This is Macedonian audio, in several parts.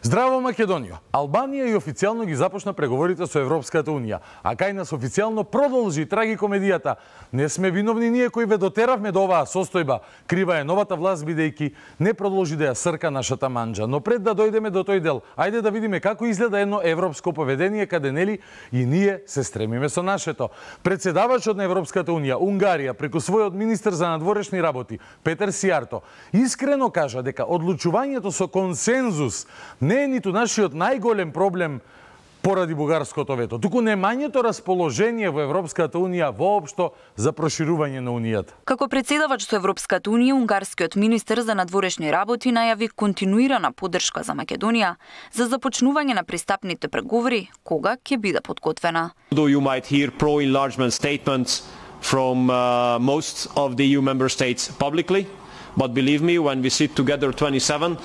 Здраво Македонија! Албанија и официјално ги започна преговорите со Европската Унија, а кај нас официјално продолжи трагикомедијата. Не сме виновни ние кои ве дотеравме до оваа состојба. Крива е новата власт бидејќи не продолжи да ја срка нашата манџа. Но пред да дојдеме до тој дел, ајде да видиме како изгледа едно европско поведение каде нели и ние се стремиме со нашето. Председавачот на Европската Унија, Унгарија, преку својот министер за надворешни работи, Петер Сијарто, искрено кажа дека одлучувањето со консензус не е ниту нашиот најголем проблем поради бугарското вето, туку немањето расположение во Европската Унија воопшто за проширување на Унијата. Како председавач со Европската Унија, унгарскиот министер за надворешни работи најави континуирана поддршка за Македонија за започнување на пристапните преговори кога ќе биде подготвена. Though you might hear pro-enlargement statements from most of the EU member states publicly, but believe me, when we sit together 27,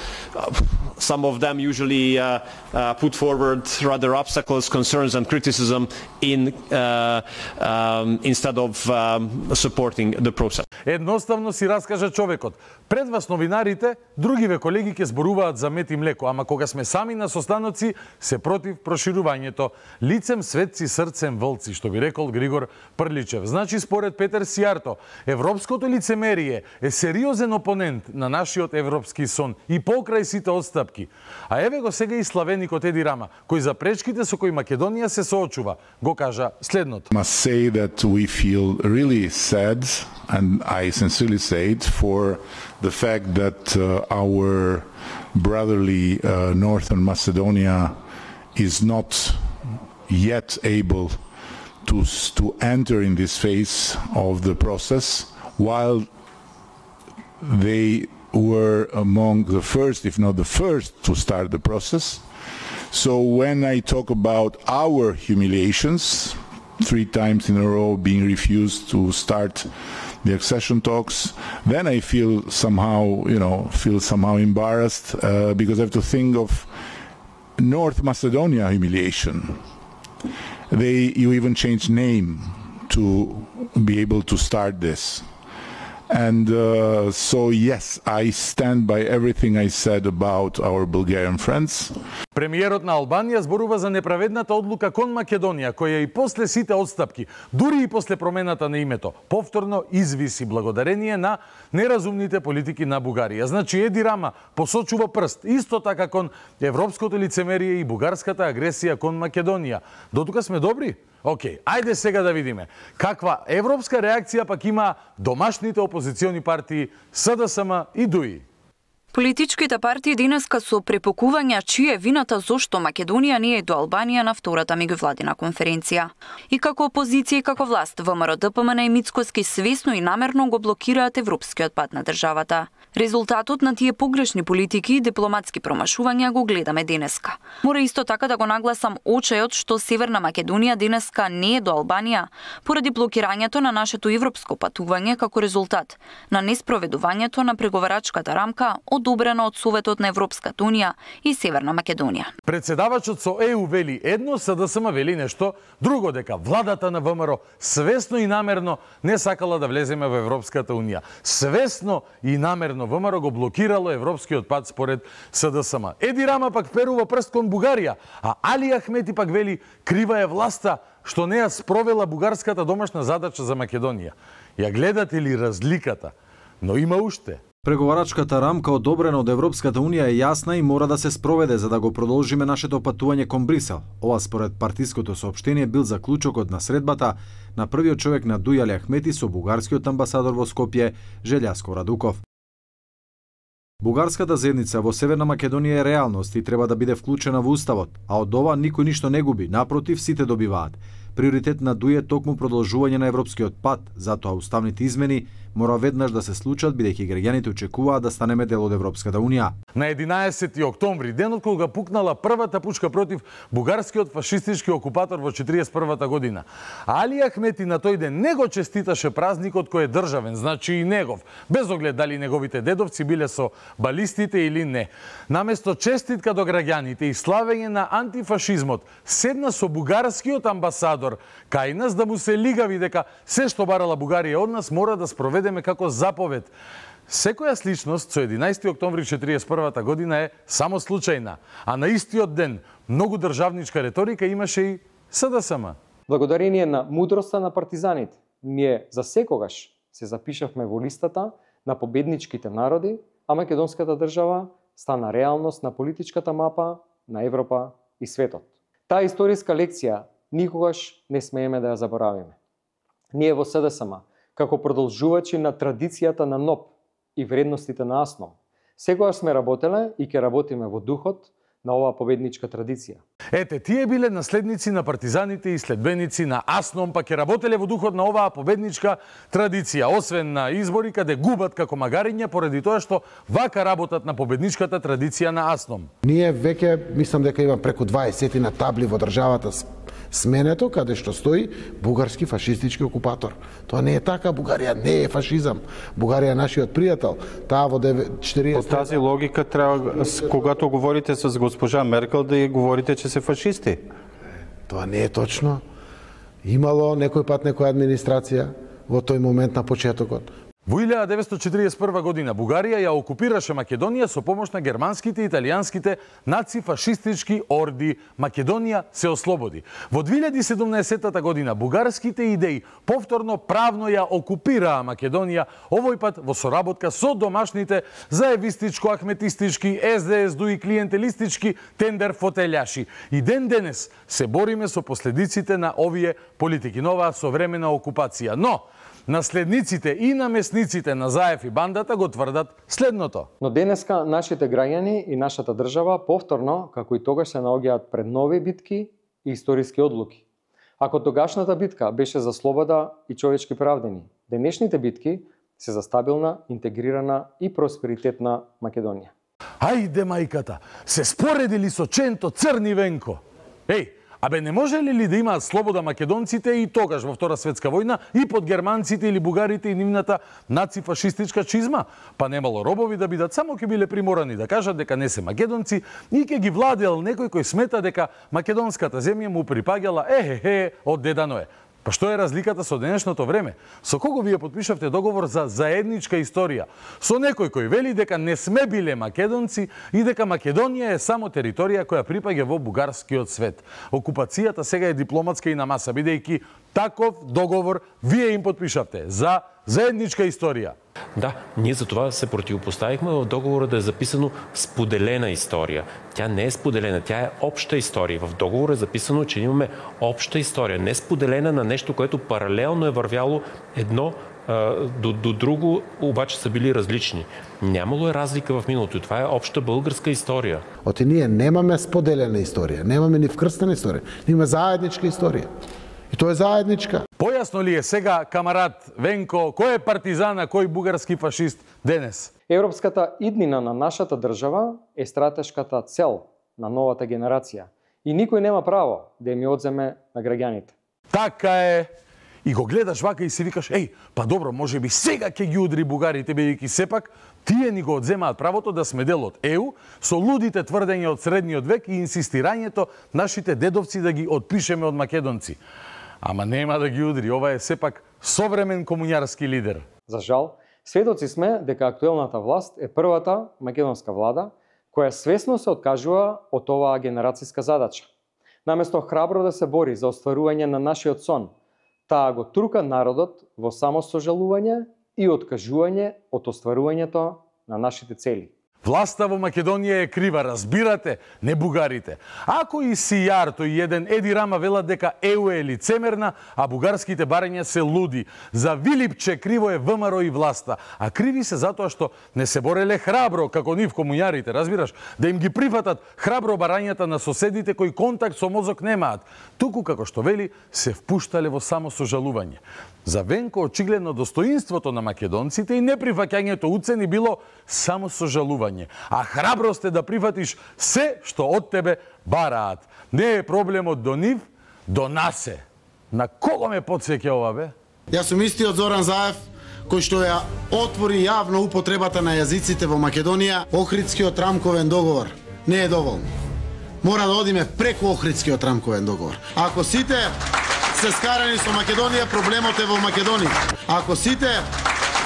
some of them usually put forward rather obstacles, concerns and criticism instead of supporting the process. Едноставно си раскажа човекот. Пред вас новинарите, другиве колеги ќе зборуваат за мед и млеко, ама кога сме сами на состаноци, се против проширувањето. Лицем светци, срцем вълци, што би рекол Григор Прличев. Значи, според Петер Сијарто, европското лицемерие е сериозен опонент на нашиот европски сон и покрај сите отстапки. А еве го сега и славеникот Еди Рама, кој за пречките со кои Македонија се соочува, го кажа следното. Must say that we feel really sad, and I sincerely say it, for the fact that our brotherly Northern Macedonia is not yet able to enter in this phase of the process, while they were among the first, if not the first, to start the process. So when I talk about our humiliations, 3 times in a row being refused to start the accession talks, then I feel somehow, embarrassed because I have to think of North Macedonia humiliation. You even changed name to be able to start this. And so yes, I stand by everything I said about our Bulgarian friends. Премиерот на Албанија зборува за неправедната одлука кон Македонија, која и после сите отстапки, дури и после промената на името, повторно извиси благодарение на неразумните политики на Бугарија. Значи, Еди Рама посочува прст, исто така кон европското лицемерие и бугарската агресија кон Македонија. Дотука сме добри? Океј, ајде сега да видиме каква европска реакција пак има домашните опозициони партии СДСМ и ДУИ. Политичките партии денеска со препокувања чија е вината зошто Македонија не е до Албанија на втората меѓувладина конференција. И како опозиција и како власт, ВМРО, ДПМН и Мицкоски свесно и намерно го блокираат европскиот пат на државата. Резултатот на тие погрешни политики и дипломатски промашувања го гледаме денеска. Мора исто така да го нагласам очајот што Северна Македонија денеска не е до Албанија поради блокирањето на нашето европско патување како резултат на неспроведувањето на преговарачката рамка одобрена од Советот на Европската Унија и Северна Македонија. Председавачот со ЕУ вели едно, СДСМ вели нешто друго, дека владата на ВМРО свесно и намерно не сакала да влеземе во Европската Унија. Свесно и намерно ВМРО го блокирало европскиот пат според СДСМ. Еди Рама пак перува прст кон Бугарија, а Али Ахмети пак вели крива е власта што не ја спровела бугарската домашна задача за Македонија. Ја гледате ли разликата? Но има уште. Преговарачката рамка одобрена од Европската Унија е јасна и мора да се спроведе за да го продолжиме нашето патување кон Брисел. Ова според партиското соопштение бил заклучокот на средбата на првиот човек на ДУИ Али Ахмети со бугарскиот амбасадор во Скопје Желјаско Радуков. Бугарската заедница во Северна Македонија е реалност и треба да биде вклучена во уставот, а од ова никој ништо не губи, напротив сите добиваат. Приоритет на ДУИ е токму продолжување на европскиот пат, затоа уставните измени мора веднаш да се случат бидејќи граѓаните очекуваат да станеме дел од Европската Унија. На 11 октомври, денот кога пукнала првата пучка против бугарскиот фашистички окупатор во 41-та година. Али Ахмети на тој ден не го честиташе празникот кој е државен, значи и негов, без оглед дали неговите дедовци биле со балистите или не. Наместо честитка до граѓаните и славење на антифашизмот, седна со бугарскиот амбасадор кај нас да му се лигави дека се што барала Бугарија од нас мора да спроведеме како заповед. Секоја сличност со 11 октомври 1941 година е само случајна, а на истиот ден многу државничка реторика имаше и СДСМ. Благодарение на мудроста на партизаните, ние за секогаш се запишавме во листата на победничките народи, а македонската држава стана реалност на политичката мапа на Европа и светот. Таа историска лекција никогаш не смееме да ја заборавиме. Ние во СДСМ, како продолжувачи на традицијата на НОП и вредностите на АСНОМ, секогаш сме работеле и ќе работиме во духот на оваа победничка традиција. Ете, тие биле наследници на партизаните и следбеници на АСНОМ, па ќе работеле во духот на оваа победничка традиција, освен на избори каде губат како магариња поради тоа што вака работат на победничката традиција на АСНОМ. Ние веќе мислам дека има преку 20 на табли во државата сменето каде што стои бугарски фашистички окупатор. Тоа не е така, Бугарија не е фашизам. Бугарија е нашиот пријател. Таа во 40. По тази логика треба, когато говорите с госпожа Меркел, да ја говорите че се фашисти. Тоа не е точно. Имало некој пат некоја администрација во тој момент на почетокот. Во 1941 година Бугарија ја окупираше Македонија со помош на германските и италијанските нацифашистички орди. Македонија се ослободи. Во 2017 година бугарските идеи повторно правно ја окупираа Македонија, овој пат во соработка со домашните заевистичко-ахметистички, СДС-ду и клиентелистички тендер фотелјаши. И ден денес се бориме со последиците на овие политики, на оваа современа окупација. Но наследниците и намесниците на Заев и бандата го тврдат следното. Но денеска нашите граѓани и нашата држава повторно, како и тогаш, се наоѓаат пред нови битки и историски одлуки. Ако тогашната битка беше за слобода и човечки правдини, денешните битки се за стабилна, интегрирана и просперитетна Македонија. Ајде мајката, се споредили со Ченто Црни Венко. Еј, абе не можеле ли да имаат слобода македонците и тогаш во Втора светска војна и под германците или бугарите и нивната нацифашистичка чизма? Па немало робови да бидат, само ќе биле приморани да кажат дека не се македонци и ќе ги владеел некој кој смета дека македонската земја му припаѓала од Деда Ное. Па што е разликата со денешното време? Со кого вие подпишавте договор за заедничка историја? Со некој кој вели дека не сме биле македонци и дека Македонија е само територија која припаѓа во бугарскиот свет. Окупацијата сега е дипломатска и на маса, бидејќи таков договор вие им подпишавте за заедничка историја. Да, ние за това се противопоставихме в договора да е записано споделена история. Тя не е споделена, тя е обща история. В договора е записано, че имаме обща история, не споделена на нещо, което паралелно е вървяло едно до друго, обаче са били различни. Нямало е разлика в миналото. Това е обща българска история. Оти ние немаме споделена историја, немаме ни вкрстена историја, имаме заедничка историја. И тоа е заедничка. Појасно ли е сега, камарат Венко, кој е партизан, а кој бугарски фашист денес? Европската иднина на нашата држава е стратешката цел на новата генерација и никој нема право да им ја одземе на граѓаните. Така е. И го гледаш вака и си викаш, па добро, може би сега ќе ги удри бугарите, бидејќи сепак тие ни го одземаат правото да сме дел од ЕУ со лудите тврдења од средниот век и инсистирањето нашите дедовци да ги отпишеме од македонци. Ама нема да ги удри, ова е сепак современ комуњарски лидер. За жал, сведоци сме дека актуелната власт е првата македонска влада која свесно се откажува од оваа генерацијска задача. Наместо храбро да се бори за остварување на нашиот сон, таа го трука народот во самосожалување и откажување од остварувањето на нашите цели. Власта во Македонија е крива, разбирате, не бугарите. Ако и Сијарто и еден Еди Рама велат дека ЕУ е лицемерна, а бугарските барања се луди. За Вилипче криво е ВМРО и власта, а криви се затоа што не се бореле храбро, како нив комуњарите, разбираш, да им ги прифатат храбро барањата на соседите кои контакт со мозок немаат. Туку, како што вели, се впуштале во самосожалување. За Венко очигледно достоинството на македонците и неприфаќањето уцени било само сожалување, а храброст е да прифатиш се што од тебе бараат. Не е проблемот до нив, до нас е. На кого ме потсеќа ова, бе? Јас сум истиот Зоран Заев, кој што ја отвори јавно употребата на јазиците во Македонија. Охридскиот рамковен договор не е доволно. Мора да одиме преку Охридскиот рамковен договор. Ако сите се скарани со Македонија, проблемот е во Македонија. Ако сите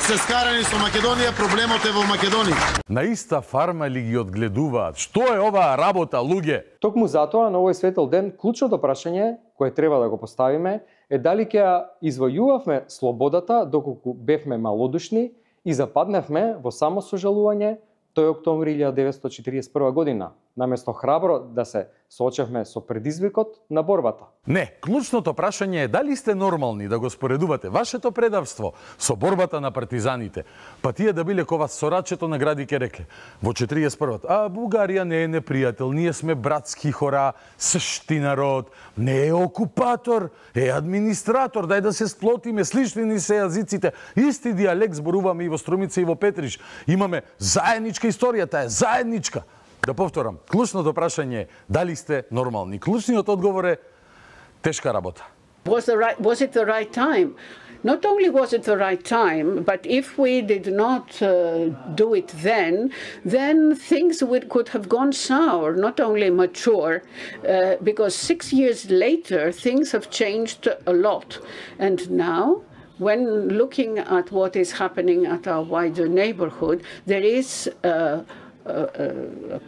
се скарани со Македонија, проблемот е во Македонија. На иста фарма ли ги одгледуваат? Што е оваа работа, луѓе? Токму затоа на овој светел ден клучното прашање кое треба да го поставиме е дали ќе ја извојувавме слободата доколку бевме малодушни и западнавме во само сожалување тој октомври 1941 година, наместо храбро да се соочевме со предизвикот на борбата. Не, клучното прашање е дали сте нормални да го споредувате вашето предавство со борбата на партизаните. Па тие да биле кова сорачето на гради ке рекле. Во 41-та, Бугарија не е непријател, ние сме братски хора, сшти народ, не е окупатор, е администратор, дај да се сплотиме, слични ни се јазиците, исти дијалект зборуваме и во Струмица и во Петрич. Имаме заедничка историја, таа е заедничка. Да повторам, клучното прашање е дали сте нормални. Клучниот одговор е тешка работа. Was it the right time? Not only was it the right time, but if we did not do it then things could have gone sour, not only mature, because 6 years later things have changed a lot. And now, when looking at what is happening at our wider neighborhood, there is a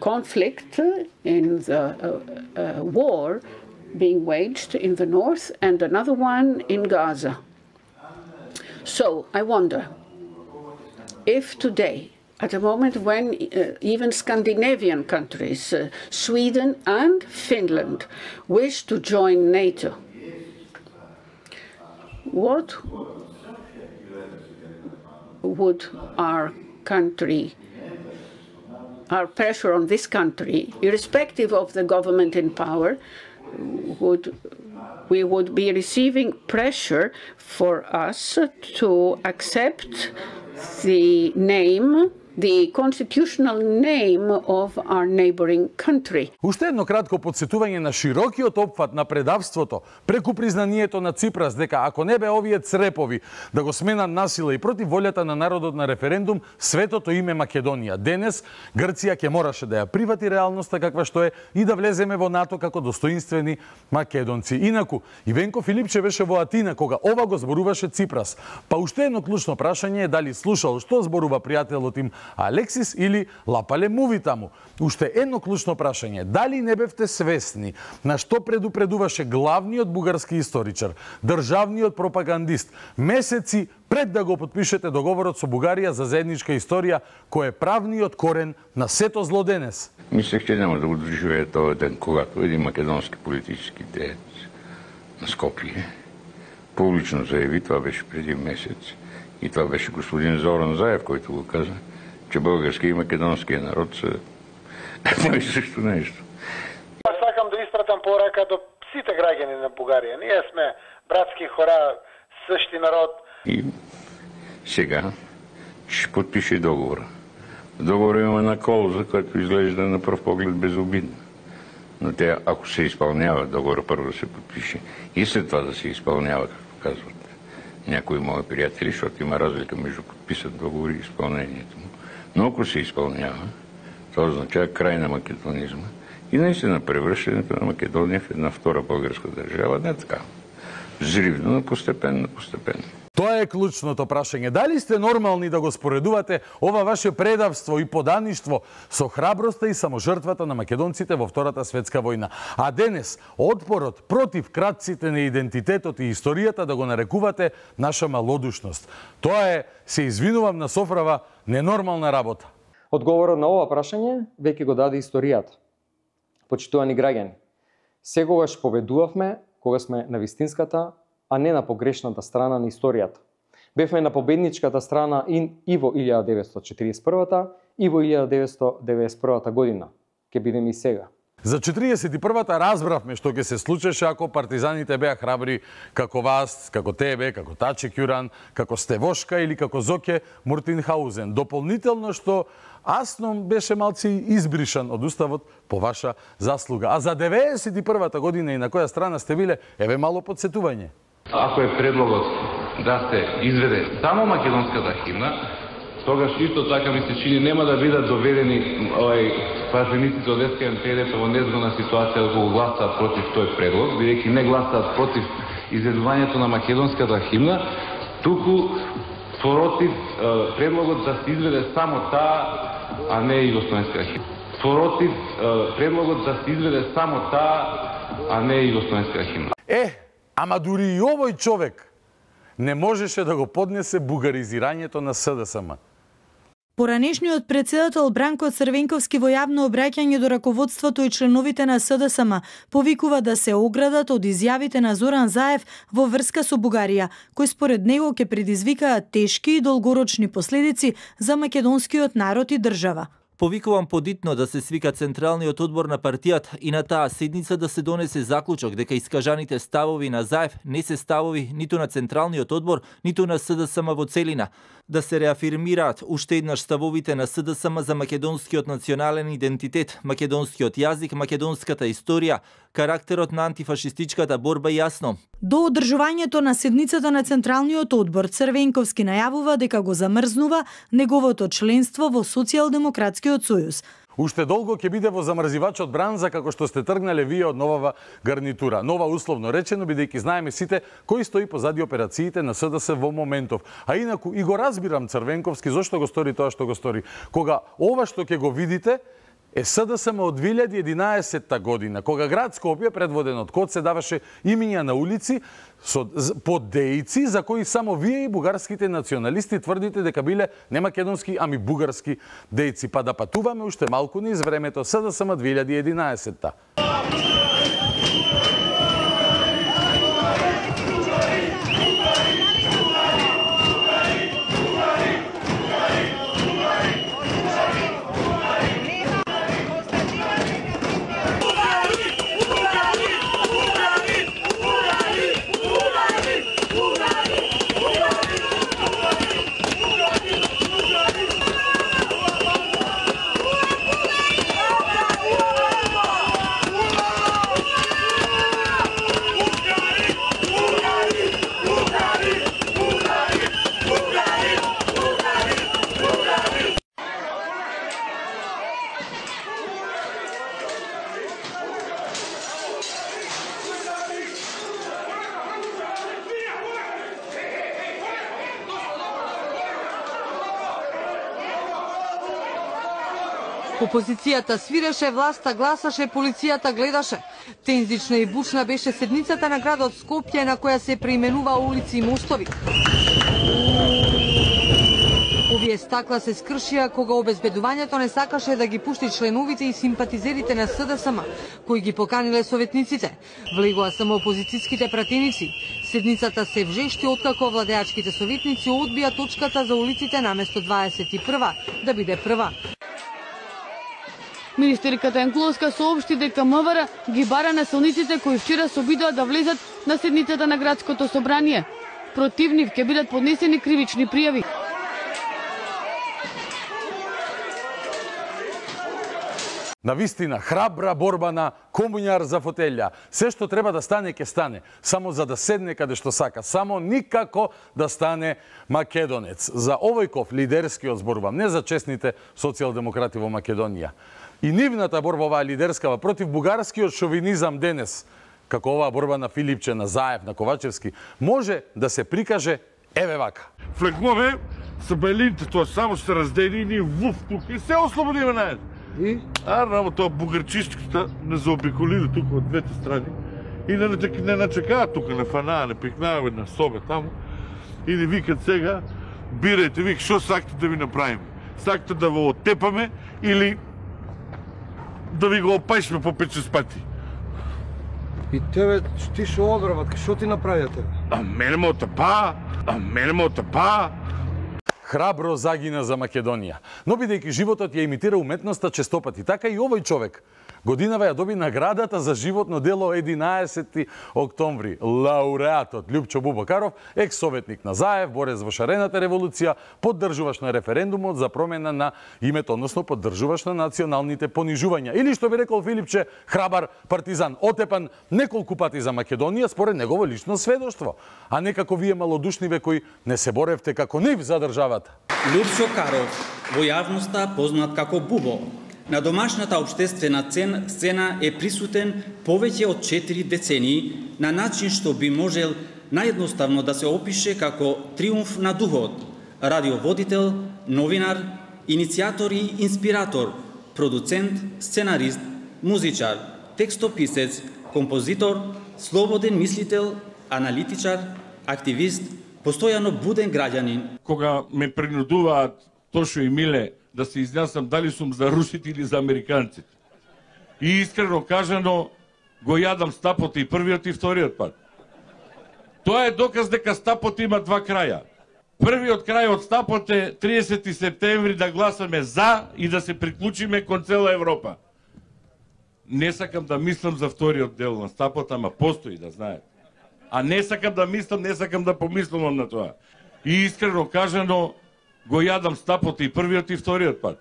conflict in the war being waged in the north and another one in Gaza. So I wonder if today, at a moment when even Scandinavian countries, Sweden and Finland, wish to join NATO, what would our pressure on this country, irrespective of the government in power, we would be receiving pressure for us to accept the name, the constitutional name of our neighboring country. Уште едно кратко подсетување на широкиот опфат на предавството преку признанието на Ципрас дека ако не бе овие црепови да го сменат насила и против волјата на народот на референдум, светото име Македонија. Денес Грција ќе мораше да ја привати реалноста каква што е и да влеземе во НАТО како достоинствени македонци. Инаку, и Венко Филипче беше во Атина кога ова го зборуваше Ципрас. Па уште едно клучно прашање е дали слушал што зборува пријателот им Алексис или лапале муви таму. Уште едно клучно прашање. Дали не бевте свесни на што предупредуваше главниот бугарски историчар, државниот пропагандист, месеци пред да го подпишете договорот со Бугарија за заедничка историја, кој е правниот корен на сето зло денес? Мислех, че няма да го доживее този ден, когато един македонски политически деец на Скопие публично заяви, това беше преди месец, и това беше господин Зоран Заев, който го каза, че български и македонския народ са едно и също нещо. Аз сакам да испратам порака до сите граѓани на Бугарија. Ние сме братски хора, същи народ. И сега ще подпише договора. В договора има една клауза, която изглежда на пръв поглед безобидна. Но тя, ако се изпълнява, договора първо да се подпише и след това да се изпълнява, както казват някои мои приятели, защото има разлика между подписат договори и изпълнението му. Но ако се изпълнява, това означава край на македонизма и наистина превръщането на Македония в една втора българска държава, не така. Взривно, но постепенно. Тоа е клучното прашање. Дали сте нормални да го споредувате ова ваше предавство и подаништво со храброста и саможртвата на македонците во Втората светска војна? А денес, отпорот против кратците на идентитетот и историјата да го нарекувате наша малодушност. Тоа е, се извинувам на Софрава, ненормална работа. Одговорот на ова прашање веќе го даде историјата. Почитувани граѓани, секогаш победувавме кога сме на вистинската, а не на погрешната страна на историјата. Бевме на победничката страна и во 1941-та и во 1991 година. Ке бидеме и сега. За 41-та разбравме што ќе се случеше ако партизаните беа храбри како вас, како тебе, како Таче Кјуран, како Стевошка или како Зоке Муртинхаузен. Дополнително што Асном беше малци избришан од уставот по ваша заслуга. А за 91-та година и на која страна сте биле, еве мало подсетување. Ако е предлогот да се изведе само македонската химна, тогаш исто така ми се чини нема да бидат доведени пратениците од СКМПД во незгодна ситуација да го гласаат против тој предлог, бидејќи не гласаат против изведувањето на македонската химна, туку Против предлогот да се изведе само таа, а не и југословенската химна. Против предлогот да се изведе само таа, а не и југословенската химна. Ама дури и овој човек не можеше да го поднесе бугаризирањето на СДСМ. Поранешниот председател Бранко Црвенковски во јавно обраќање до раководството и членовите на СДСМ повикува да се оградат од изјавите на Зоран Заев во врска со Бугарија, кои според него ќе предизвикаат тешки и долгорочни последици за македонскиот народ и држава. Повикувам подитно да се свика Централниот одбор на партијата и на таа седница да се донесе заклучок дека искажаните ставови на Заев не се ставови ниту на Централниот одбор, ниту на СДСМ во целина. Да се реафирмираат уште еднаш ставовите на СДСМ за македонскиот национален идентитет, македонскиот јазик, македонската историја, карактерот на антифашистичката борба јасно. До одржувањето на седницата на Централниот одбор, Црвенковски најавува дека го замрзнува неговото членство во Социјалдемократскиот сојуз. Уште долго ќе биде во замрзивачот бранза како што сте тргнале вие од новава гарнитура. Нова условно речено, бидејќи знаеме сите кој стои позади операциите на СДС во моментов. А инаку и го разбирам Црвенковски зошто го стори тоа што го стори. Кога ова што ќе го видите е СДСМ од 2011 година, кога град Скопје, предводен од Коце, даваше имиња на улици под дејци за кои само вие и бугарските националисти тврдите дека биле не македонски, ами бугарски дејци. Па да патуваме уште малку низ времето СДСМ 2011-та. Опозицијата свиреше, власта гласаше, полицијата гледаше. Тензична и бучна беше седницата на градот Скопје, на која се преименува улици и мостови. Овие стакла се скршија кога обезбедувањето не сакаше да ги пушти членовите и симпатизерите на СДСМ, кои ги поканиле советниците. Влегоа само опозицијските пратеници. Седницата се вжешти откако владеачките советници одбија точката за улиците наместо 21 да биде прва. Министерката Енкловска соопшти дека МВР ги бара насилниците кои вчера се обидоа да влезат на седницата на градското собрание. Против нив ќе бидат поднесени кривични пријави. Навистина, храбра борба на комуњар за фотелја. Се што треба да стане, ќе стане. Само за да седне каде што сака. Само никако да стане македонец. За овојков лидерскиот зборувам, не за честните социјалдемократи во Македонија. И нивната борба, оваа лидерскава, против бугарскиот шовинизам денес, како оваа борба на Филипче, на Заев, на Ковачевски, може да се прикаже еве вака. Флекмове са белините, тоа само се раздели и ние вуф тук и се ослободиме наед. И? Рамо тоа бугарчистката не заобиколили тук од двете страни и не начекаат тук, не фанаа, не пикнаа на собе таму и не викат сега, бирајте, вик, шо сакате да ви направиме? Сакате да во оттепаме или да ви го опајшме по 5-6 пати? И тебе, ти шо одбрават, шо ти направија тебе? А мене ме отапаа. Храбро загина за Македонија. Но бидејќи животот ја имитира уметноста честопати, така и овој човек годинава ја доби наградата за животно дело 11 октомври. Лауреатот Љупчо Бубакаров, екс-советник на Заев, борец во шарената револуција, поддржуваш на референдумот за промена на името, односно поддржуваш на националните понижувања. Или што би рекол Филипче, храбар партизан, отепан неколку пати за Македонија според негово лично сведоштво, а не како вие малодушниве кои не се боревте како нив за државата. Љупчо Каров, во јавноста познат како Бубо, на домашната општествена сцена е присутен повеќе од 4 децении на начин што би можел наједноставно да се опише како триумф на духот, радиоводител, новинар, иницијатор и инспиратор, продуцент, сценарист, музичар, текстописец, композитор, слободен мислител, аналитичар, активист, постојано буден граѓанин. Кога ме принудуваат Тошо и Миле да се изјаснам дали сум за русите или за американците. И искрено кажано, го јадам стапот и првиот и вториот пат. Тоа е доказ дека стапот има два краја. Првиот крај од стапот е 30 септември да гласаме за и да се приклучиме кон цела Европа. Не сакам да мислам за вториот дел на стапот, ама постои, да знаете. А не сакам да мислам, не сакам да помислувам на тоа. И искрено кажано, го јадам стапот и првиот и вториот пат.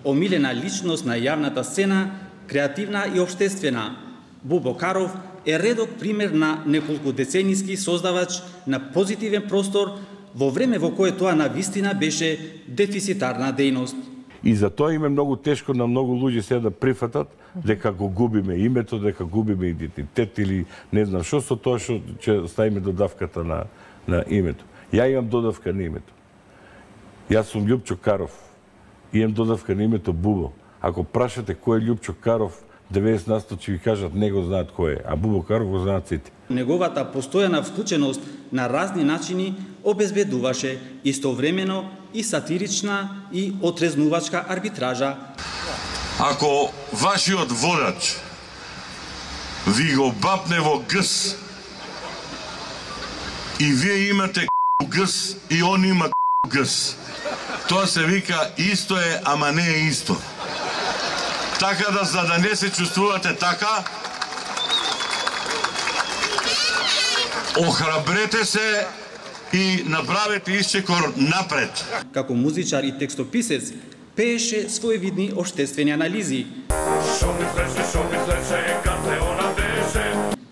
Омилена личност на јавната сцена, креативна и обштествена, Бубо Каров е редок пример на неколку деценијски создавач на позитивен простор во време во кое тоа навистина беше дефицитарна дејност. И за тоа им е многу тешко на многу луѓе се да прифатат дека го губиме името, дека губиме идентитет или не знам што со тоа што ќе ставиме додавката на името. Ја имам додавка на името. Јас сум Љупчо Каров и имам додавка на името Бубо. Ако прашате кој е Љупчо Каров, 90% ќе ви кажат не го знаат кој е, а Бубо Каров го знаат сите. Неговата постојана вклученост на разни начини обезбедуваше истовремено и сатирична и отрезнувачка арбитража. Ако вашиот водач ви го бапне во гс и вие имате гс и он има гс, тоа се вика исто е, ама не е исто. Така да, за да не се чувствувате така, охрабрете се и направете исчекор напред. Како музичар и текстописец, пееше своевидни обштествени анализи.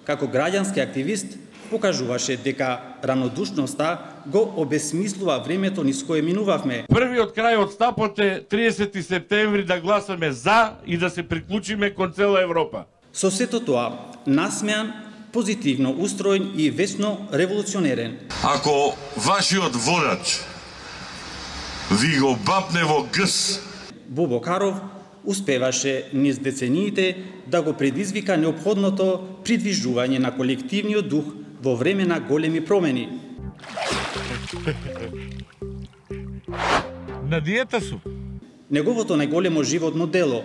Како граѓански активист, покажуваше дека ранодушноста го обесмислува времето низ кое минувавме. Првиот крај од стапот е 30 септември да гласаме за и да се приклучиме кон цела Европа. Со сето тоа, насмеан, позитивно устроен и вечно револуционерен. Ако вашиот водач ви го бапне во гс, Бубо Каров успеваше низ децениите да го предизвика неопходното придвижување на колективниот дух во време на големи промени. На диета сум. Неговото најголемо животно дело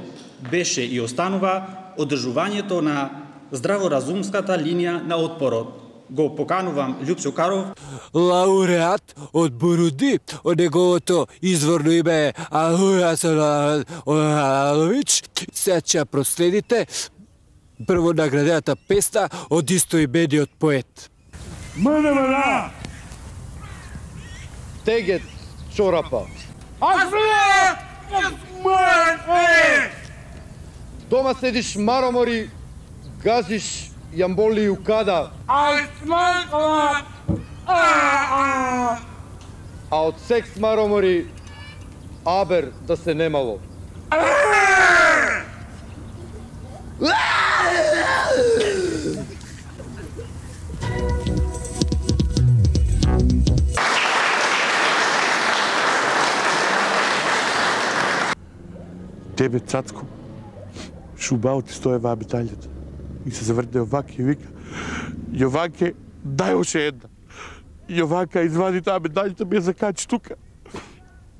беше и останува одржувањето на здраворазумската линија на отпорот. Го поканувам Љупчо Каров, лауреат од Буруди, од неговото изворно име е Алуја Салалович. Сега проследите прво наградената песна од истоимениот поет. Мана! Тегет чорапа. Дома седиш маромори, газиш јамболи укада. А од секс маромори абер да се немало. Тебе, цацко, шубао ти стоева обиталјата. И се заврте Јоваке и вика, Јоваке, дај още една. Јовака извади таа медаљата, ме закачи тука.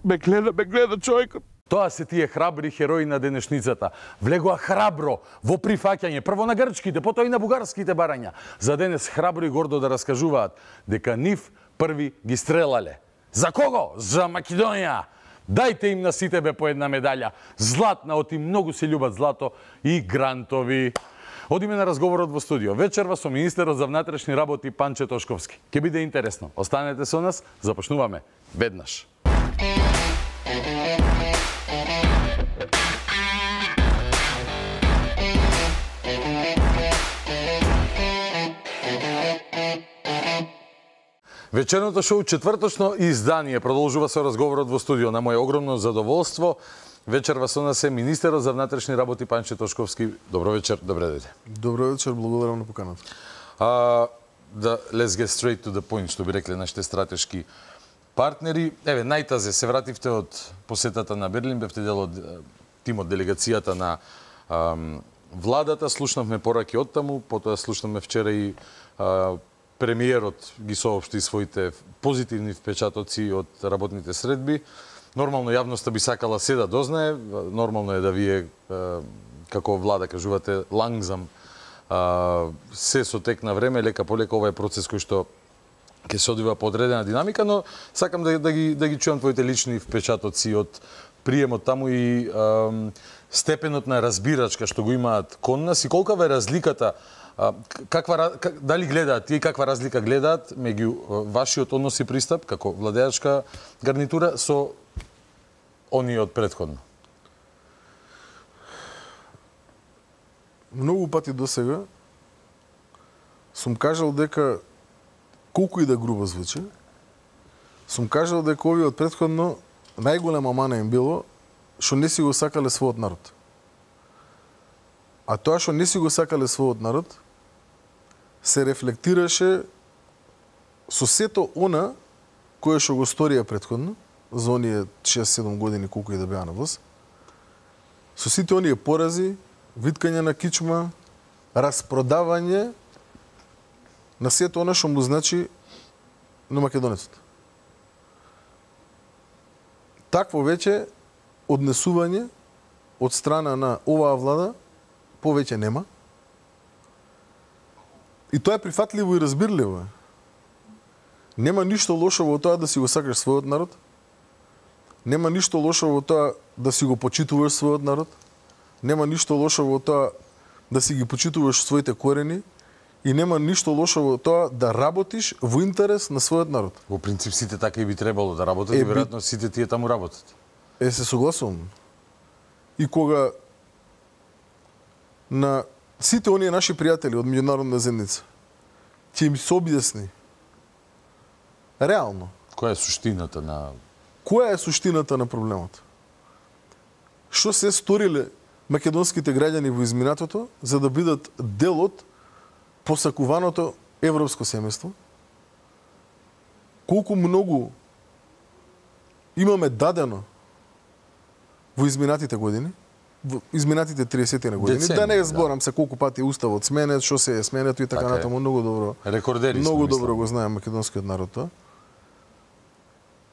Ме гледа човекот. Тоа се тие храбри херои на денешницата. Влегоа храбро во прифаќање, прво на грчките, потоа и на бугарските барања. За денес храбро и гордо да раскажуваат дека нив први ги стрелале. За кого? За Македонија. Дајте им на сите бе по една медаља. Златна, оти многу се љубат злато и грантови. Одиме на разговорот во студио. Вечерва со министерот за внатрешни работи Панче Тошковски. Ке биде интересно. Останете со нас, започнуваме веднаш. Вечерното шоу четврточно издание продолжува со разговорот во студио. На моје огромно задоволство вечерва со нас е министерот за внатрешни работи Панче Тошковски. Добро вечер, добре дојде. Добро вечер, благодарам на поканата. Let's get straight to the point, што би рекле нашите стратешки партнери. Еве, најтазе се вративте од посетата на Берлин, бевте дел од тимот, делегацијата на владата, слушнавме пораки од таму, потоа слушнавме вчера и премиерот ги соопшти своите позитивни впечатоци од работните средби. Нормално јавноста би сакала се да дознае, нормално е да вие како влада кажувате лангзам се со тек на време, лека по лека, ова е процес кој што ќе се одвива по одредена динамика, но сакам да ги чуам твоите лични впечатоци од приемот таму и степенот на разбирачка што го имаат кон нас и колкава е разликата, дали гледаат тие, каква разлика гледаат меѓу вашиот однос и пристап како владеачка гарнитура со оние од претходно? Многу пати досега сум кажал дека колку и да грубо звучи, сум кажал дека овие од претходно најголема мана им било што не си го сакале својот народ. А тоа што не си го сакале својот народ се рефлектираше со сето она кое што го сторија претходно за оние 6-7 години колку и да беа на власт. Со сите оние порази, виткање на кичма, распродавање на сето она што му значи на македонецот. Такво веќе однесување од страна на оваа влада повеќе нема. И тоа е прифатливо и разбирливо. Нема ништо лошо во тоа да си го сакаш својот народ. Нема ништо лошо во тоа да си го почитуваш својот народ. Нема ништо лошо во тоа да си ги почитуваш своите корени. И нема ништо лошо во тоа да работиш во интерес на својот народ. Во принцип сите така и би требало да работат и веројатно сите тие таму работат. Се согласувам. И кога на сите оние наши пријатели од меѓународна заедница ќе им се објасни реално која е суштината на проблемот. Што се сториле македонските граѓани во изминатото за да бидат дел од посакуваното европско семејство? Колку многу имаме дадено во изминатите години, во изминатите 30 на години, да не зборам се колку пати уставот сменет, што се е сменето и така натаму, многу добро. Рекордери многу добро го знае македонскиот народ тоа.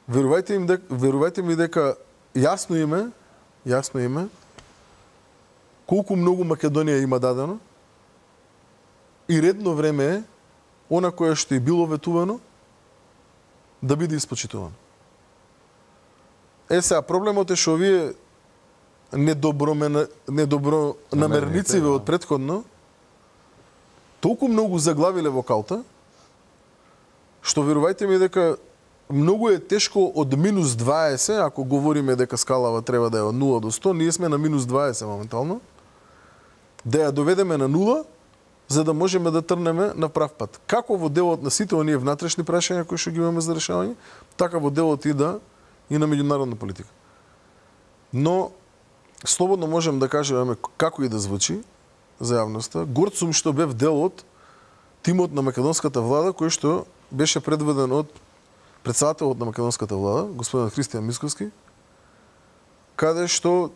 Верувајте ми дека јасно име колку многу Македонија има дадено и редно време е она кое што е било ветувано да биде испочитувано. Сега проблемот е што овие недобронамерници од претходно толку многу заглавиле во калта што верувајте ми дека многу е тешко од минус 20, ако говориме дека скалава треба да е од 0 до 100, ние сме на минус 20 моментално, да ја доведеме на 0, за да можеме да трнеме на прав пат. Како во делот на сите оние внатрешни прашања кои што ги имаме за решавање, така во делот и на меѓународна политика. Но слободно можем да кажеме како и да звучи за јавноста. Горд сум што бев дел од тимот на македонската влада кој што беше предведен од председателот на македонската влада, господин Христијан Мицковски, каде што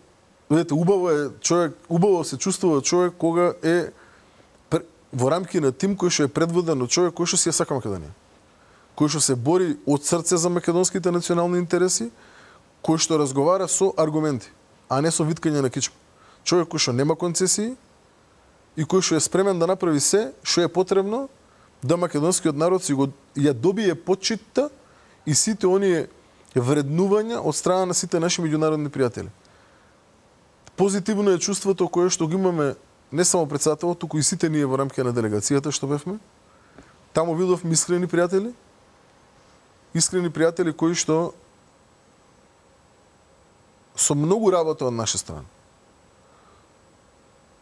видите, убаво се чувствува човек кога е во рамки на тим кој што е предводен од човек кој што си ја сака Македонија. Кој што се бори од срце за македонските национални интереси, кој што разговара со аргументи, а не со виткање на кичма. Човек кој што нема концесии и кој што е спремен да направи се што е потребно да македонскиот народ си го ја добие почитта и сите оние вреднувања од страна на сите наши меѓународни пријатели. Позитивно е чувството кое што го имаме не само председателот, туку и сите ние во рамките на делегацијата што бевме. Таму видовме искрени пријатели кои што со многу работа од наша страна,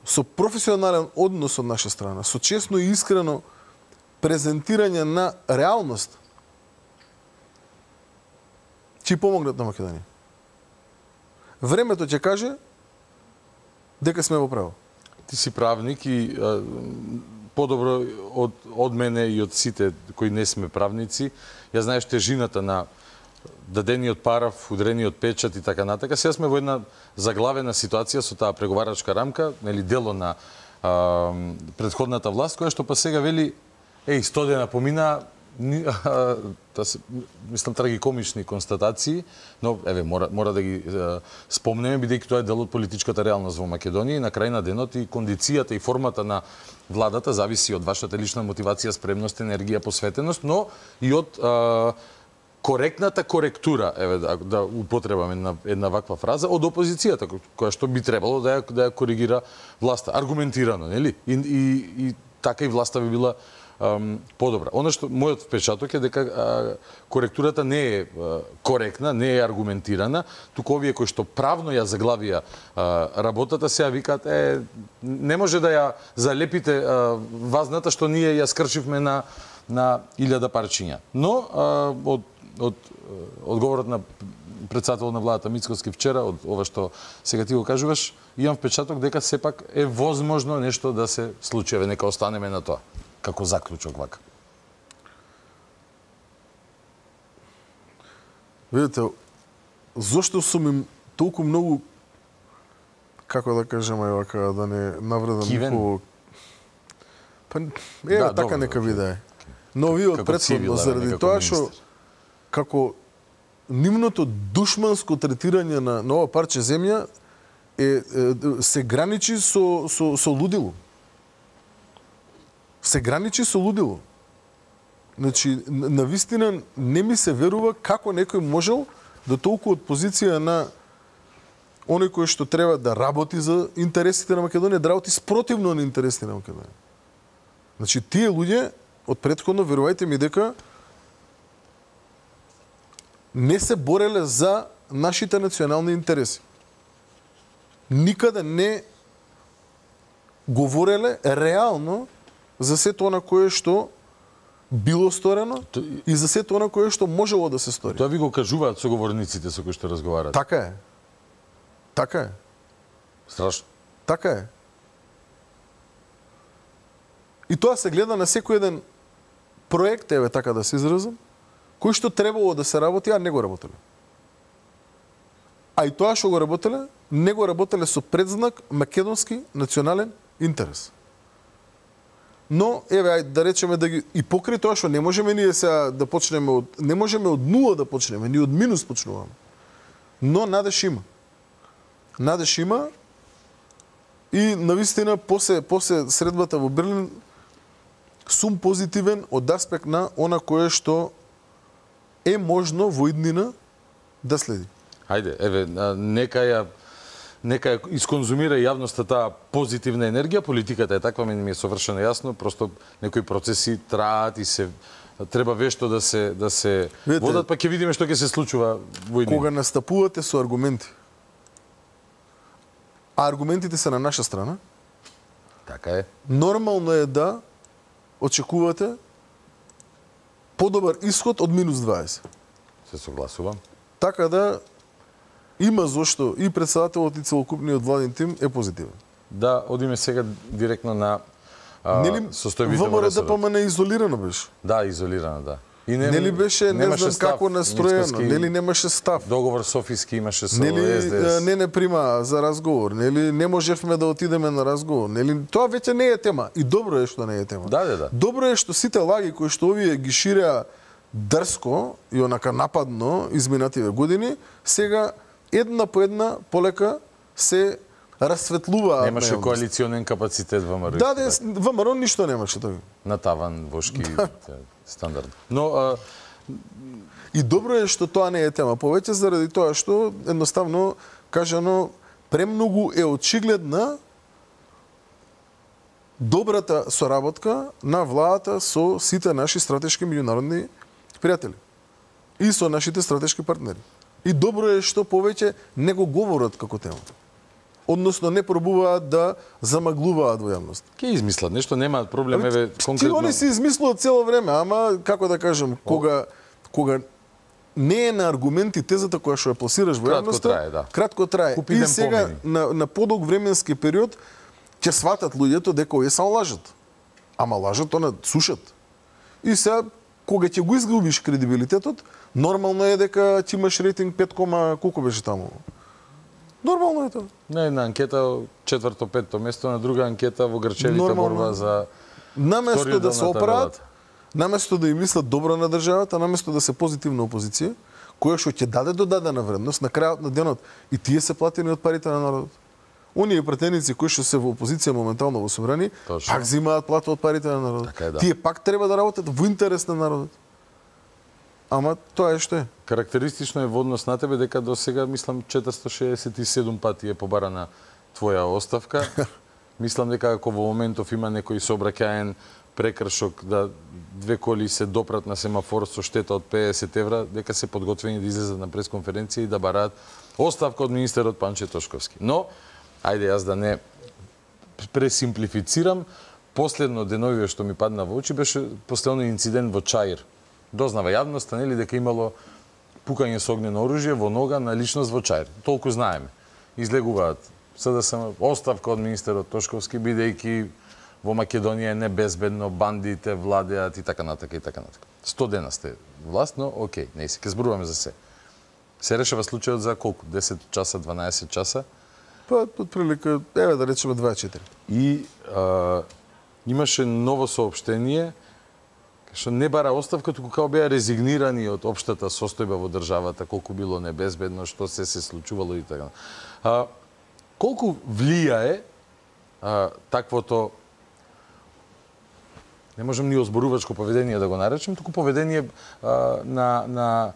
со професионален однос од наша страна, со честно и искрено презентирање на реалност, ќе помогнат на Македонија. Времето ќе каже дека сме во право. Ти си правник и подобро од мене и од сите кои не сме правници, ја знаеш тежината на дадениот параф, удрениот печат и така натака. Сега сме во една заглавена ситуација со таа преговарачка рамка, нели дело на претходната власт, која што па сега вели, стодена помина, мислам трагикомични констатации, но мора да ги спомнеме, бидејќи тоа е дел од политичката реалност во Македонија и на крај на денот и кондицијата и формата на владата зависи од вашата лична мотивација, спремност, енергија, посветеност, но и од коректната коректура, да употребаме една ваква фраза, од опозицијата, која што би требало да ја коригира власта. Аргументирано, нели? И така и власта би била подобра. Оно што мојот впечаток е дека коректурата не е коректна, не е аргументирана, туку овие кои што правно ја заглавија работата сега викаат не може да ја залепите вазната што ние ја скршивме на 1000 парчиња. Но од одговорот на председател на владата Мицкоски вчера, од ова што сега ти го кажуваш, имам впечаток дека сепак е возможно нешто да се случи. Нека останеме на тоа, како заклучок вака. Видите, зошто сум им толку многу, како да кажеме вака, да не навредам никого... Така нека биде. Но вие од претходно, заради тоа што како нивното душманско третирање на ова парче земја се граничи со лудило. Се граничи со лудило. Значи, навистина не ми се верува како некој можел да толку од позиција на оној кој што треба да работи за интересите на Македонија, да работи спротивно на интересите на Македонија. Значи, тие луѓе од претходно, верувајте ми дека не се бореле за нашите национални интереси. Никаде не говореле реално за сето она кое што било сторено и за сето она кое што можело да се стори. Тоа ви го кажуваат соговорниците со кои што разговараат. Така е. Така е. Страшно. Така е. И тоа се гледа на секој еден проект, така да се изразам, кој што требало да се работи, а не го работеле. А и тоа што го работеле, не го работеле со предзнак македонски национален интерес. Но, да речеме да ги... И покрај тоа што не можеме ние сега да почнеме од... Не можеме од нула да почнеме, ни од минус почнуваме. Но надеж има. Надеж има и навистина после средбата во Берлин сум позитивен од аспект на она кое што е можно во иднина да следи. Хајде, нека исконзумира јавноста таа позитивна енергија, политиката е таква, ми е совршено јасно, просто некои процеси траат и се треба вешто да се водат, па ќе видиме што ќе се случува во иднина. Кога настапувате со аргументи, а аргументите се на наша страна, така е. Нормално е да очекувате подобар исход од минус 20. Се согласувам. Така да има зошто и председателот и целокупниот владин тим е позитивен. Да, одиме сега директно на состојбите во ВМРО ДПМН изолирано беше. Да, изолирано, да. И нели беше, не знам како настроено, нели немаше став. Договор Софиски имаше со нели, СДС. Не прима за разговор, нели не можевме да отидеме на разговор, нели тоа веќе не е тема. И добро е што не е тема. Да. Добро е што сите лаги кои што овие ги ширеа дрско и онака нападно изминативе години, сега една по една полека се расветлуваат. Немаше коалиционен капацитет во ВМРО. Да, ВМРО ништо немаше тоа. На таван вошки стандард. Но и добро е што тоа не е тема, повеќе заради тоа што едноставно кажано премногу е очигледна добрата соработка на владата со сите наши стратешки меѓународни пријатели и со нашите стратешки партнери. И добро е што повеќе не го говорат како тема. Односно не пробуваат да замаглуваат во јавност. Ке измислат нешто, немаат проблем, конкретно. Ти они се измислуваат цело време, ама како да кажем, кога не е на аргументи тезата која што ја пласираш во јавноста, кратко трае. И сега на подолг временски период ќе сватат луѓето дека овие само лажат. Ама лажат, сушат. И сега кога ќе го изгубиш кредибилитетот, Нормално е дека ти имаш рейтинг 5, колку беше таму? Нормално е тоа. На една анкета 4-5 место, на друга анкета во Грчевите борба за наместо да се оправат, наместо да им мислат добро на државата, наместо да се позитивна опозиција, која што ќе даде додадена вредност на крајот на денот и тие се платени од парите на народот. Оние пратеници кои што се во опозиција моментално во собрани, пак земаат плата од парите на народот. Така Тие пак треба да работат во интерес на народот. Ама тоа е што е. Карактеристично е во однос на тебе дека до сега, мислам, 467 пати е побарана твоја оставка. Мислам дека ако во моментов има некој сообраќаен прекршок да 2 коли се допрат на семафор со штета од 50 евра, дека се подготвени да излезат на пресконференција и да бараат оставка од министерот Панче Тошковски. Но, ајде јас да не пресимплифицирам, последно деновиве што ми падна во очи беше последно инцидент во Чаир. Дознава јавноста, нели, дека имало пукање со огнено оружје во нога на личност во Чаир. Толку знаеме. Излегуваат СДСМ оставка од министерот Тошковски, бидејќи во Македонија е небезбедно, бандите владеат и така натака и така натака. 100 дена сте власт, но окей, не се, ке зборуваме за се. Се решава случајот за колку? 10 часа, 12 часа? Па, отприлика, еве да речеме 24. И имаше ново соопштение, што не бара оставка, туку као беа резигнирани од општата состојба во државата, колку било небезбедно, што се случувало и така. Колку влијае таквото, не можем ни озборувачко поведение да го наречем, туку поведение на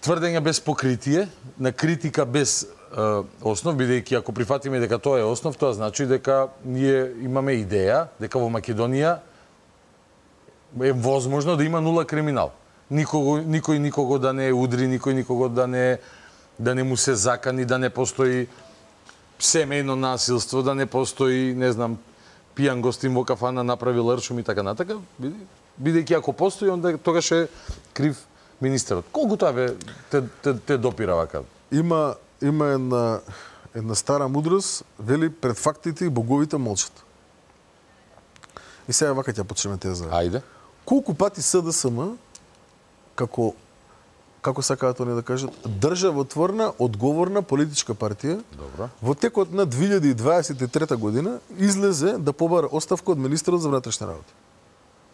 тврдење без покритие, на критика без основ, бидејќи ако прифатиме дека тоа е основ, тоа значи дека ние имаме идеја дека во Македонија е возможно да има нула криминал. Никој никого да не удри, никој никого да не му се закани, да не постои семејно насилство, да не постои, не знам, пијан гостин во кафана направил ршум и така натака, бидејќи ако постои, онда тогаш е крив министерот. Колку тоа те допира вака? Има една стара мудрост, вели пред фактите и боговите молчат. И сега вака ќе почнеме теза. Ајде. Колку пати СДСМ, како сакаат они да кажат, државотворна, одговорна политичка партија, добро, во текот на 2023 година излезе да побара оставка од министерот за внатрешни работи.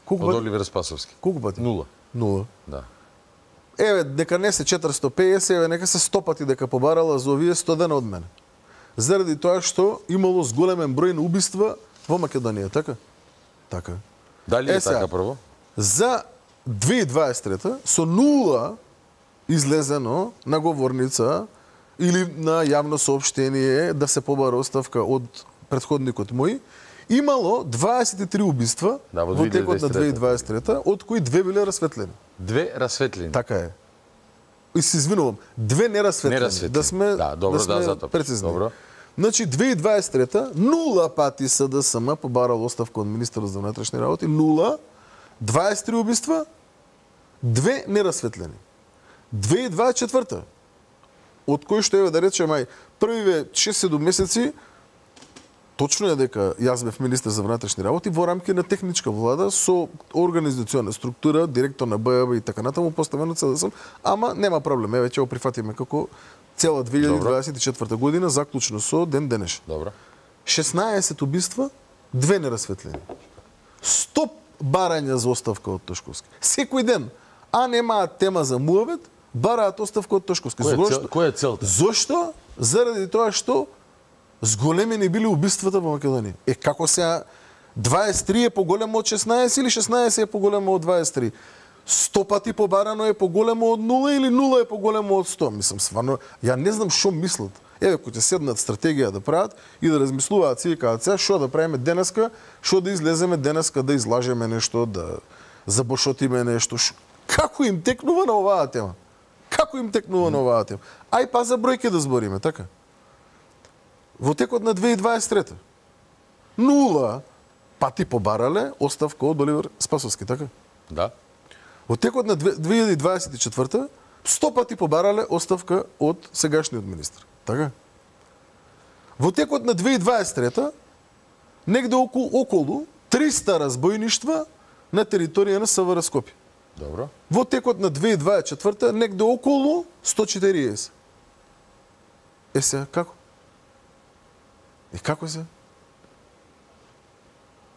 Од Оливер Спасовски. Колку пати? Нула. Да. Еве, дека не се 450, еве, нека се 100 пати дека побарала за овие 100 дена од мене. Заради тоа што имало зголемен број на убиства во Македонија, така? Така. Дали е така прво? За 2023 со нула излезено на говорница или на јавно соопштение да се побара оставка од претходникот мој, имало 23 убиства во текот на 2023, од кои 2 биле расветлени. 2 расветлени? Така е. И се извинувам, 2 нерасветлени. Да сме, прецизни. Добро. Значи, 2023 нула пати СДСМ побарал оставка од министерот за внатрешни работи, нула, 23 убиства, 2 нерасветлени. 2024 од кои што еве да речеме првиве 6-7 месеци, точно е дека јас бев министер за внатрешни работи во рамки на техничка влада со организациона структура, директор на БАБ и така натаму поставено СДСМ, ама нема проблем, еве ќе го прифатиме како цела 2024 година, заклучно со ден денешен. Добро. 16 убиства, 2 нерасветлени. 100 барања за оставка од Тошковски. Секој ден, а немаат тема за муавет, бараат оставка од Тошковски. Која е целта? Зошто? Заради тоа што зголемени били убиствата во Македонија. Како сега 23 е поголемо од 16 или 16 е поголемо од 23? 100 пати побарано е поголемо од 0 или 0 е поголемо од 100? Мислам, сварно, ја не знам што мислат. Еве, кој ќе седнат стратегија да прават и да размислуваат си и кажат сега што да правиме денеска, што да излеземе денеска да излажеме нешто, да забошотиме нешто. Како им текнува на оваа тема? Како им текнува на оваа тема? Ај па за бројки да збориме, така? Во текот на 2023 нула пати побарале оставка од Оливер Спасовски, така? Да. Во текот на 2024 100 пати побарале оставка од сегашниот министр, така? Во текот на 2023 негде околу 300 разбојништва на територија на СВР Скопје. Добро. Во текот на 2024 негде околу 140. Се, како? И како се?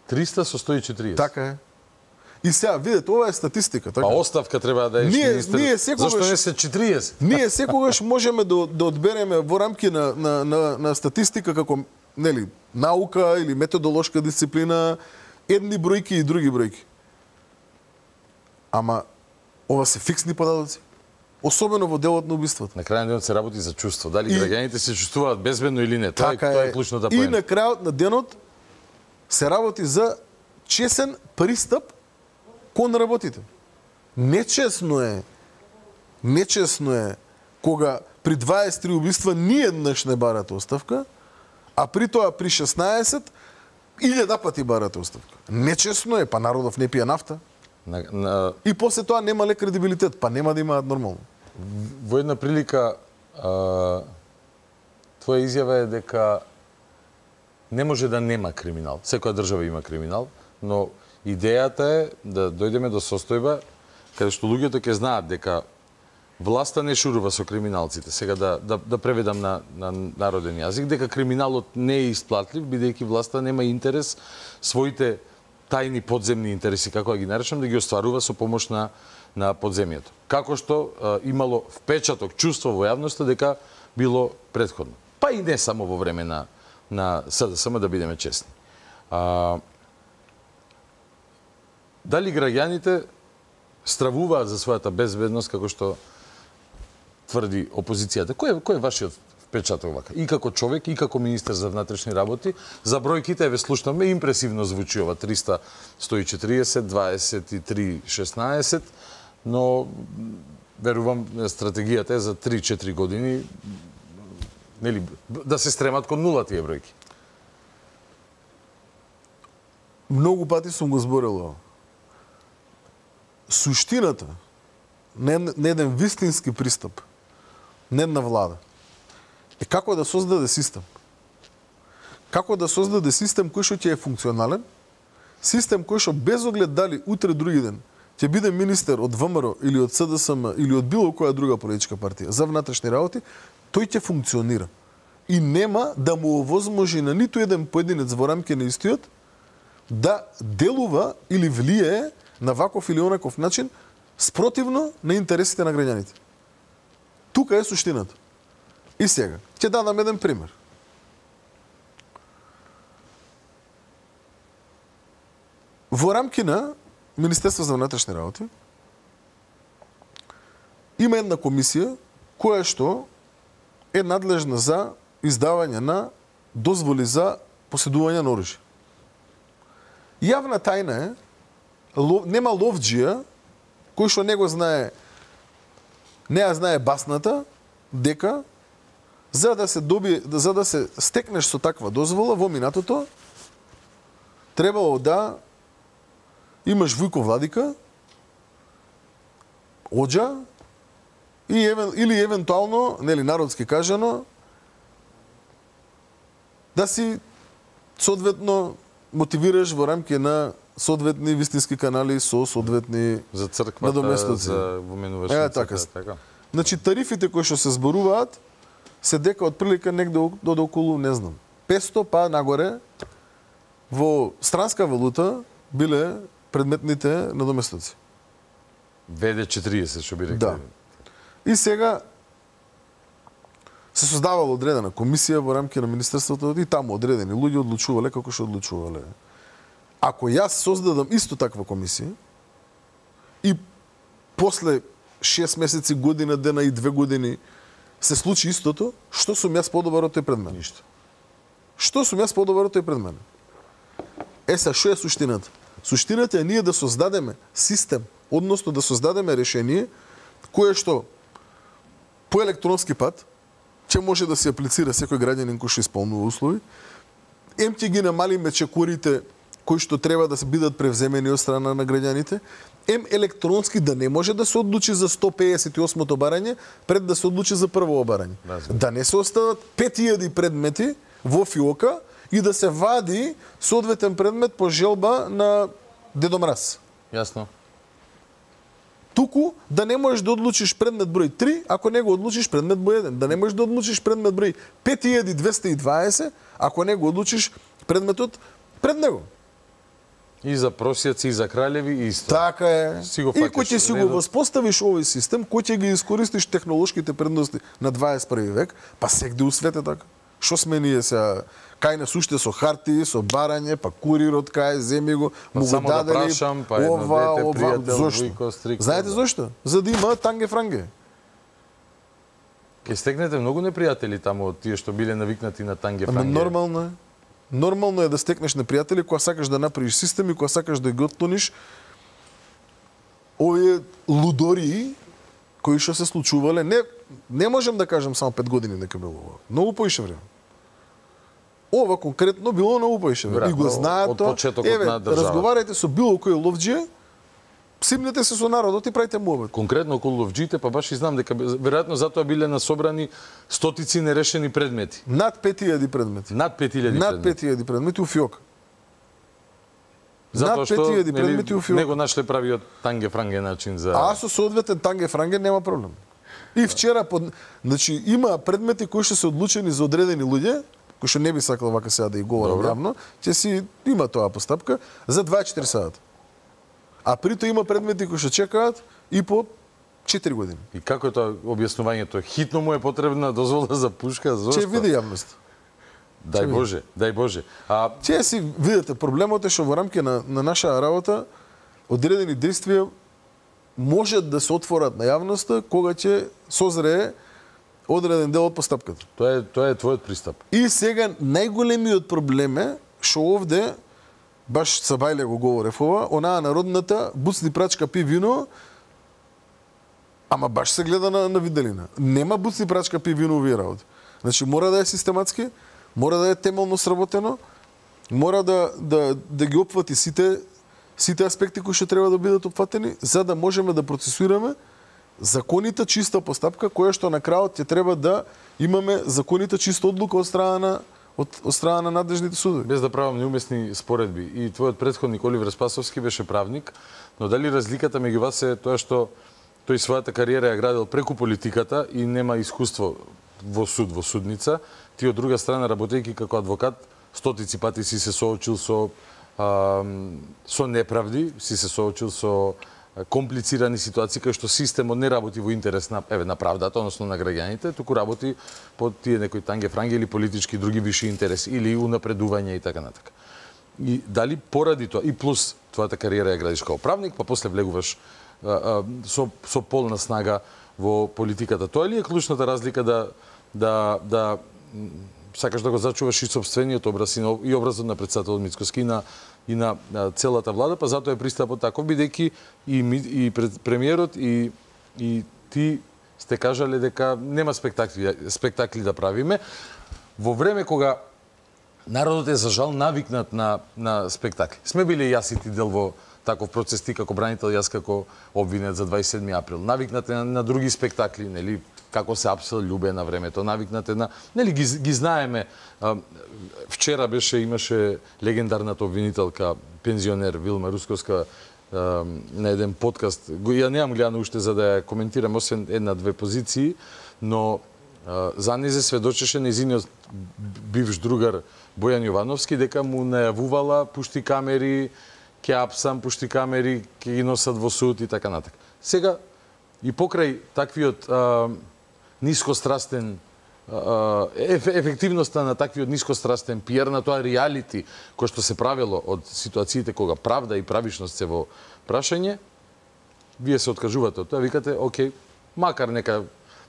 300 со 140. Така е. И сега, видете, ова е статистика. Така? Па оставка треба да е ние секогаш, зашто не се 40? Ние секогаш можеме да одбереме во рамки на статистика како нели, наука или методолошка дисциплина едни бројки и други бројки. Ама ова се фиксни податоци. Особено во делот на убиството. На крајот на денот се работи за чувство. Дали граѓаните се чувствуваат безбедно или не. Тоа е клучната поента. И на крајот на денот се работи за чесен пристап кон работите. Нечесно е кога при 23 убиства ниеднаш не барате оставка, а при тоа при 16 1000 пати барате оставка. Нечесно е, па народов не пие нафта. И после тоа нема ле кредибилитет, па нема да имаат нормално. Во една прилика твоја изјава е дека не може да нема криминал. Секоја држава има криминал, но идејата е да дојдеме до состојба каде што луѓето ќе знаат дека власта не шурува со криминалците. Сега да преведам на народен јазик, дека криминалот не е исплатлив, бидејќи власта нема интерес своите тајни подземни интереси, како да ги наречам, да ги остварува со помош на подземјето. Како што имало впечаток, чувство во јавноста дека било претходно. Па и не само во време на СДСМ, да бидеме честни. Дали граѓаните стравуваат за својата безбедност, како што тврди опозицијата? Кој е вашиот впечаток вака? И како човек, и како министер за внатрешни работи, за бројките ве слушнаме, импресивно звучи ова 300, 140, 23, 16, но верувам стратегијата е за 3-4 години нели да се стремат кон нула тие бројки. Многу пати сум го зборел ова. Суштината на еден вистински пристап, не на влада, е како да создаде систем. Како да создаде систем кој што ќе е функционален, систем кој што без оглед дали утре други ден ќе биде министер од ВМРО или од СДСМ или од било која друга политичка партија за внатрешни работи, тој ќе функционира. И нема да му овозможи на ниту еден поединец во рамки на истиот да делува или влијае на ваков или онаков начин спротивно на интересите на граѓаните. Тука е суштината. И сега, ќе дадам еден пример. Во рамки на Министерство за внатрешни работи има една комисија која што е надлежна за издавање на дозволи за поседување на оружје. Јавна тајна е, нема ловџија кој што не ја знае басната, дека за да се стекнеш со таква дозвола во минатото требало да имаш Вујко Владика, оџа или евентуално, нели народски кажано, да си соодветно мотивираш во рамки на соодветни вистински канали со соодветни за црквата, за воменувачниците. Така. Значи тарифите кои што се зборуваат се дека од прилика негде до околу, не знам, 500 па нагоре во странска валута биле предметните надоместоци. ВД 40 што би рекли. Да. И сега се создавала одредена комисија во рамки на министерството и таму одредени луѓе одлучувале како што одлучувале. Ако јас создадам исто таква комисија и после 6 месеци, година, дена и 2 години се случи истото, што сум јас подобар од тој пред мене? Ништо. Што сум јас подобар од тој пред мене? Са, што е суштината? Суштината е ние да создадеме систем, односно да создадеме решение кое што по електронски пат ќе може да се аплицира секој граѓанин кој што исполнува услови, ќе ги намалиме чекорите кои што треба да се бидат превземени од страна на граѓаните, електронски да не може да се одлучи за 158-то барање пред да се одлучи за прво барање. Да не се остават 5000 предмети во фиока и да се вади соодветен предмет по желба на Дедо Мраз. Јасно. туку да не можеш да одлучиш предмет број 3 ако не го одлучиш предмет број 1, да не можеш да одлучиш предмет број 5220 ако не го одлучиш предметот пред него. И за просјаци, и за кралеви, исто. Така е. И кој ќе си го редот. воспоставиш овој систем, кој ќе ги искористиш технолошките предности на 21 век, па сегде у свет е така. Што сме ние сега? Кај нас уште со хартии, со барање, па курирот кај, земи го, му го само да дадели, прашам, па едно дете, пријател, зошто? Вујко, Стрикто. Знаете зошто? За да има танге-франге. Ке стекнете многу непријатели таму од тие што биле навикнати на танге-франге. Нормално е. Нормално е да стекнеш непријатели кога сакаш да направиш систем и кога сакаш да ги отклониш овие лудории кои што се случувале. Не можем да кажем само 5 години дека било ова. Многу поише време. Ова конкретно било многу поише време. И го знаат тоа. Од почетокот на државата. Разговарајте со било кој ловџија, симнете се со народот и правите муабет. Конкретно околу ловџиите, па баш и знам дека веројатно затоа биле насобрани стотици нерешени предмети. Над 5000 предмети. Над 5000 Над 5000 предмети у фиок. Затоа што предмети у фиок. него нашле правиот танге-франге начин за... А со соодветен танге-франге нема проблем. И вчера, значи, има предмети кои што се одлучени за одредени луѓе, кои што не би сакал вака сега да и говорам јавно, ќе си има тоа постапка за 24 сата. А прито има предмети кои што чекаат и по 4 години. И како е тоа објаснувањето? Хитно му е потребна дозвола за пушка? Зошто? Ќе види јавност. Дај Боже, дај Боже. Ќе си видите, проблемот е што во рамки на нашата работа одредени действија можат да се отворат на јавноста кога ќе созрее одреден дел од постапката. Тоа е твојот пристап. И сега најголемиот проблем е што овде баш Сабајле го говорев ова, онаа народната буцни прачка пи вино, ама баш се гледа на виделина. Нема буцни прачка пи вино овие работи. Значи мора да е систематски, мора да е темелно сработено, мора да ги опфати сите аспекти кои што треба да бидат опфатени, за да можеме да процесираме законита чиста постапка која што на крајот ќе треба да имаме законита чиста одлука од страна на надлежните судови. Без да правам неуместни споредби. И твојот претходник Оливер Спасовски беше правник, но дали разликата меѓу вас е тоа што тој својата кариера ја градил преку политиката и нема искуство во суд, во судница, ти од друга страна работејќи како адвокат, стотици пати си се соочил со неправди, си се соочил со комплицирани ситуации кај што системот не работи во интерес на правдата, односно на граѓаните, туку работи по тие некои танге-франги или политички други виши интереси или унапредување и така натака. И дали поради тоа и плюс твојата кариера ја градиш како правник, па после влегуваш со полна снага во политиката. Тоа ли е клучната разлика да сакаш да го зачуваш и собствениот образ и образот на претседателот Мицкоски и на целата влада, па затоа е пристапот таков, бидејќи и премиерот и ти сте кажале дека нема спектакли да правиме во време кога народот е за жал навикнат на спектакли. Сме биле јас и ти дел во таков процес, ти како бранител, јас како обвинет за 27 април. Навикнат на други спектакли, нели, како се апсел љубе на времето, навикнате на, нели, ги знаеме. Вчера имаше легендарната обвинителка, пензионер Вилма Русковска на еден подкаст. Ја немам гледано уште за да ја коментирам, освен една-две позиции, но за незе сведочеше нејзиниот бивш другар Бојан Јовановски дека му најавувала пушти камери, ќе апсам, пушти камери, ќе ги носат во суд и така натака. Сега, и покрај таквиот нискострастен ефективноста на таквиот нискострастен пиар, на тоа реалити кој што се правило од ситуациите кога правда и правишност се во прашање, вие се откажувате од тоа, викате, окей, макар нека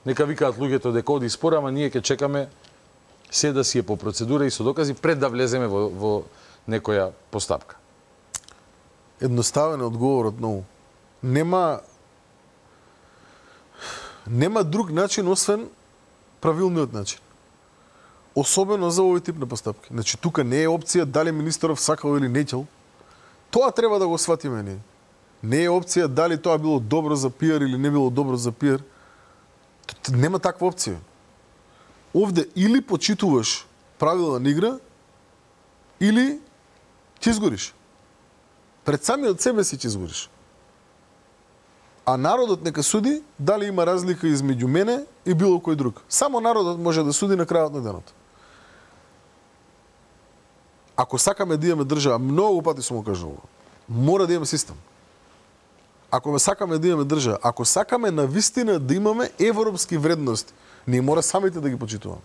викаат луѓето дека оди спор, ама ние ќе чекаме се да си е по процедура и со докази пред да влеземе во некоја постапка. Едноставен одговорот многу. Нема друг начин освен правилниот начин. Особено за овој тип на постапки. Значи тука не е опција дали министеров сакал или нечел. Тоа треба да го сватиме ние. Не е опција дали тоа било добро за пиар или не било добро за пиар. Нема таква опција. Овде или почитуваш правила на игра, или ќе изгориш. Пред самиот себе си ќе изгориш. А народот нека суди дали има разлика измеѓу мене и било кој друг. Само народот може да суди на крајот на денот. Ако сакаме да имаме држава, многу пати сум го кажувал, мора да имаме систем. Ако сакаме да имаме држава, ако сакаме на вистина да имаме европски вредности, ние мора самите да ги почитуваме.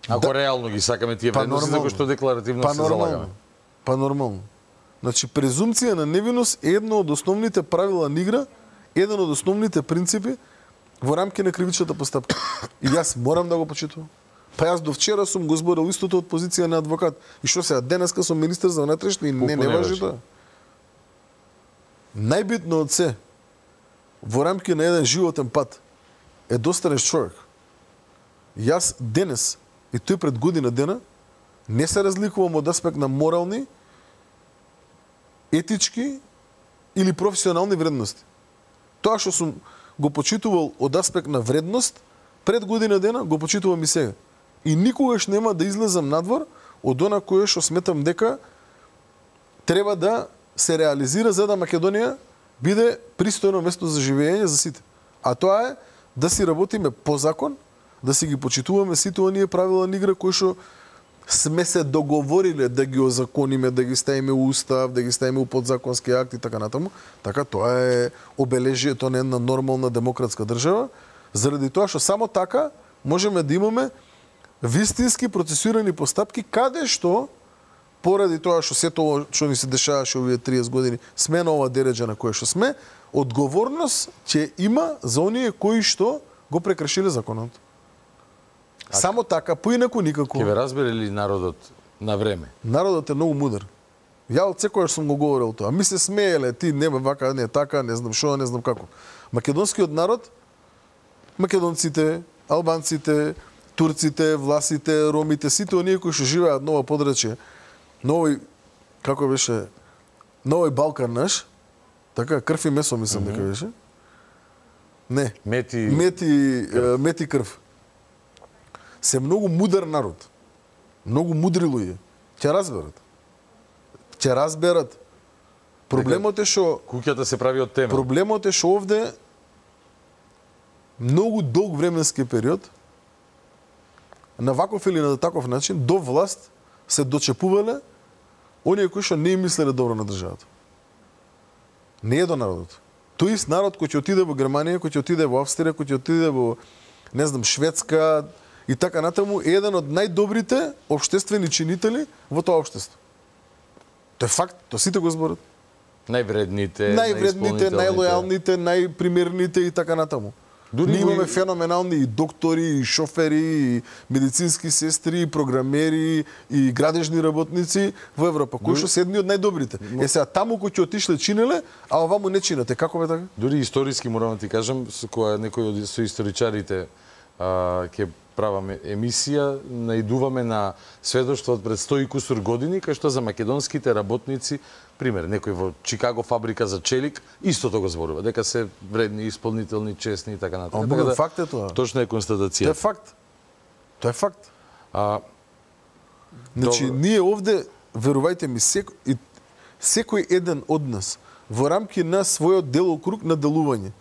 Ако реално ги сакаме тие вредности, за кои што декларативно се залагаме. Па нормално. Значи, презумција на невиност е едно од основните правила на игра, еден од основните принципи во рамки на кривичната постапка. И јас морам да го почитувам. Па јас до вчера сум го зборил истото од позиција на адвокат. И што сега, денеска сум министер за внатрешни и не важи тоа. Најбитно од се, во рамки на еден животен пат, е да останеш човек. Јас денес, и тој пред година дена, не се разликувам од аспект на морални, етички или професионални вредности. Тоа што сум го почитувал од аспект на вредност, пред година дена го почитувам и сега. И никогаш нема да излезам надвор од она кое што сметам дека треба да се реализира за да Македонија биде пристојно место за живење за сите. А тоа е да си работиме по закон, да си ги почитуваме сите оние правила на игра кои што сме се договориле да ги озакониме, да ги ставиме у устав, да ги ставиме у подзаконски акти и така натаму. Така тоа е обележието на една нормална демократска држава, заради тоа што само така можеме да имаме вистински процесирани постапки каде што поради тоа што сето што ни се дешаваше овие 30 години сме на ова дереџа на кое што сме, одговорност ќе има за оние кои што го прекршиле законот. Само така, поинаку никако. Ќе ве разбере ли народот на време? Народот е многу мудар. Ја од секојаш сум го говорил тоа. Ми се смееле, ти не вака, не така, не знам што, не знам како. Македонскиот народ, македонците, албанците, турците, власите, ромите, сите оние кои што живеат на ова подрачје, на овој, како беше, на овој Балкан наш, така, крв и месо мислам дека беше. Не. Мети крв. Се многу мудар народ. Многу мудри луѓе. Ќе разберат. Ќе разберат. Проблемот е што куќата се прави од темел. Проблемот е што овде многу долг временски период на ваков или на таков начин до власт се дочепувале оние кои што не мислеле добро на државата. Не е до народот. Тој ист народ кој ќе отиде во Германија, кој ќе отиде во Австрија, кој ќе отиде во, не знам, Шведска и така натаму, е еден од најдобрите општествени чинители во тоа општество. Тоа е факт, тоа сите го зборат. Највредните, најлојалните, најпримерните и така натаму. Ние имаме феноменални и доктори, и шофери, и медицински сестри, и програмери, и градежни работници во Европа, кои што се едни од најдобрите. Е сега таму кои ќе отишле чинеле, а оваму не чинете. Како бе така? Дури историски морам да ти кажам, кога некој од историчарите ќе праваме емисија, наидуваме на сведоштво од пред 100 и кусур години, кај што за македонските работници, пример, некој во Чикаго фабрика за челик, истото го зборува, дека се вредни, исполнителни, честни и така натаму. Така да, факт е тоа. Точно е констатација. Тоа е факт. Тоа е факт. Значи, ние овде, верувајте ми, секој еден од нас во рамки на својот делокруг на делување,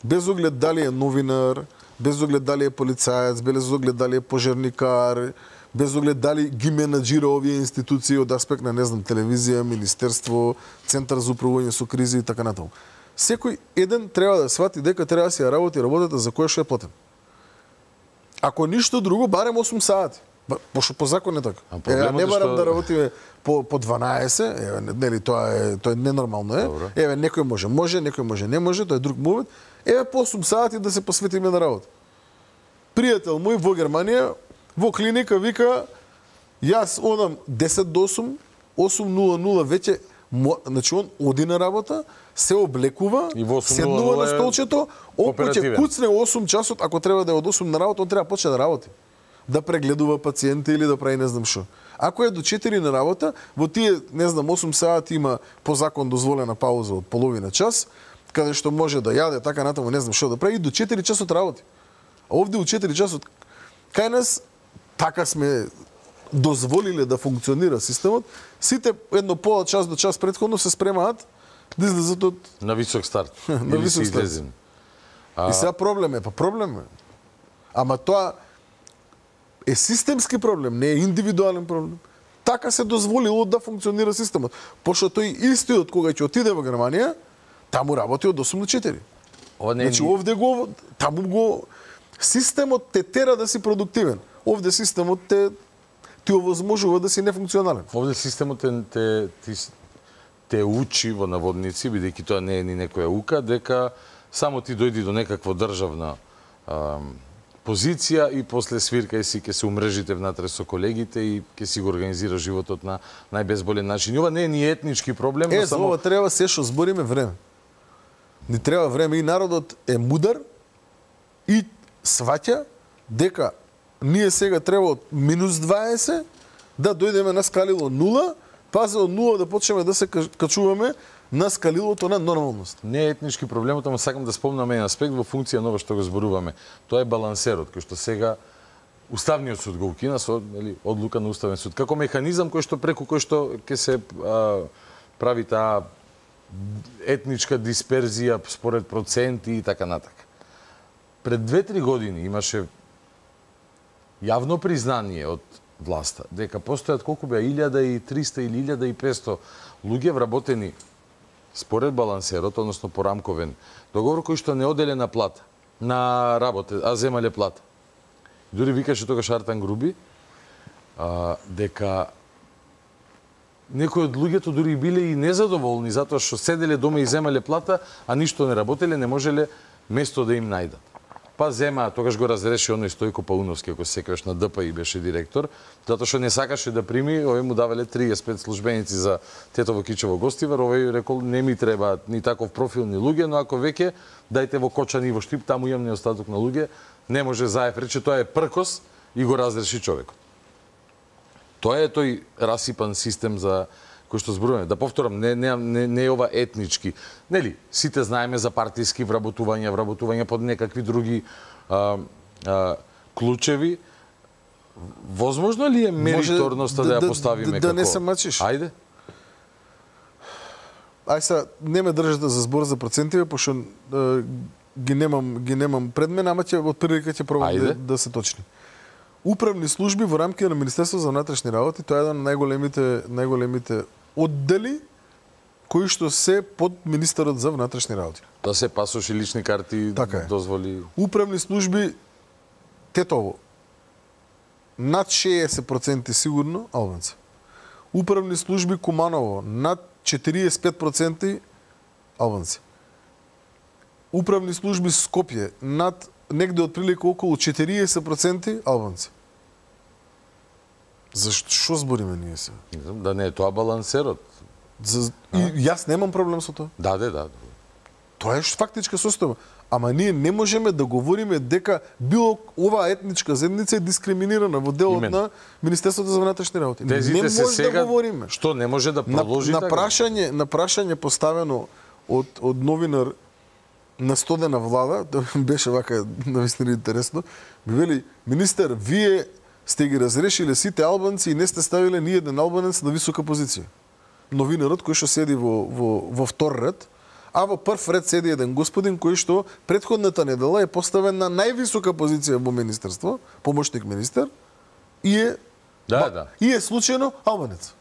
без оглед дали е новинар, без оглед дали е полицаец, без оглед дали е пожарникар, без оглед дали ги менаџира овие институции од аспект на, не знам, телевизија, министерство, центар за управување со кризи и така натаму. Секој еден треба да свати дека треба да си ја работи работата за која што е платен. Ако ништо друго, барем 8 сати. Пошто по закон е така. Не барам да работиме по 12, нели тоа е ненормално е. Еве некој може, некој може, не може, тоа е друг момент. Еве по 8 сати да се посветиме на работа. Пријател мој во Германија, во клиника вика, јас одам 10 до 8, 8:00 веќе, значи он оди на работа, се облекува, седнува на столчето, ако ќе куцне 8 часот, ако треба да е од 8 на работа, он треба да почне да работи. Да прегледува пациенти или да прави не знам што. Ако е до 4 на работа, во тие, не знам, 8 сати има по закон дозволена пауза од половина час, каде што може да јаде, така натаму, не знам што да прави, и до 4 часот работи. А овде у 4 часот, кај нас, така сме дозволиле да функционира системот, сите едно пола час до час претходно се спремаат да излезат од на висок старт. на висок старт. И сега проблем е. Ама тоа е системски проблем, не е индивидуален проблем. Така се дозволило да функционира системот. Пошто тој истиот кога ќе отиде во Германија, таму работи од 8 до 4. Значи овде системот те тера да си продуктивен. Овде системот ти овозможува да си нефункционален. Овде системот те учи во наводници, бидејќи тоа не е ни некоја ука, дека само ти дојди до некаква државна позиција и после свиркај си ќе се умрежите внатре со колегите и ќе си го организира животот на најбезболен начин. И ова не е ни етнички проблем, но само ова треба се што збориме време. Ни треба време и народот е мудар и сваќа дека ние сега треба од -20 да дојдеме на скалило 0, па за од 0 да почнеме да се качуваме на скалилото на нормалност. Не е етнички проблемот, ама сакам да спомнам еден аспект во функција на ова што го зборуваме. Тоа е балансерот, кој што сега Уставниот суд го укина со одлука на Уставен суд. Како механизам преку кој што ќе се прави таа етничка дисперзија според проценти и така натака. Пред 2-3 години имаше јавно признание од власта дека постојат колку беа 1300 или 1500 луѓе вработени според балансерот, односно по рамковен договор, кој што не оделена плата на работа, а земале плата. Дури викаше тогаш Артан Груби дека некои од луѓето дури биле и незадоволни затоа што седеле дома и земале плата, а ништо не работеле, не можеле место да им најдат. Па зема, тогаш го разреши оној Стојко Пауновски, ако се сеќаваш, на ДПИ беше директор, затоа што не сакаше да прими, овој му давале 35 службеници за Тетово Кичево Гостивар, овој рекол не ми треба ни таков профил ни луѓе, но ако веќе дајте во Кочани и во Штип, таму имам неостаток на луѓе, не може Заев рече тоа е пркос и го разреши човекот. Тоа е тој расипан систем за кој што зборуваме. Да повторам, не е ова етнички. Нели, сите знаеме за партиски вработувања под некакви други клучеви. Возможно ли е мериторноста да ја поставиме како? Да не се мачиш. Ајде. Ај са, не ме држате за збор за процентиве, пошто ги немам пред мене, ама од прилика ќе пробам да се точни. Управни служби во рамките на Министерството за внатрешни работи, тоа е еден од најголемите оддели кои што се под министерот за внатрешни работи. Да се пасоши лични карти, така дозволи. Управни служби Тетово над 60% сигурно албанци. Управни служби Куманово над 45% албанци. Управни служби Скопје над негде отприлика околу 40% албанци. Зашто што збориме ние се? Да не е тоа балансерот. И јас немам проблем со тоа. Да. Тоа е фактичка состојба. Ама ние не можеме да говориме дека било оваа етничка заедница е дискриминирана во делот на Министерството за внатрешни работи. Не може да говориме. Што не може да продолжи така? На прашање поставено од новинар на стодена влада, тоа беше вака навистина интересно, ми вели: министер, вие сте ги разрешиле сите албанци и не сте ставиле ни еден албанец на висока позиција. Новинарот кој што седи во втор ред, а во прв ред седи еден господин кој што претходната недела е поставен на највисока позиција во министерство, помошник министер, и е случајно албанец.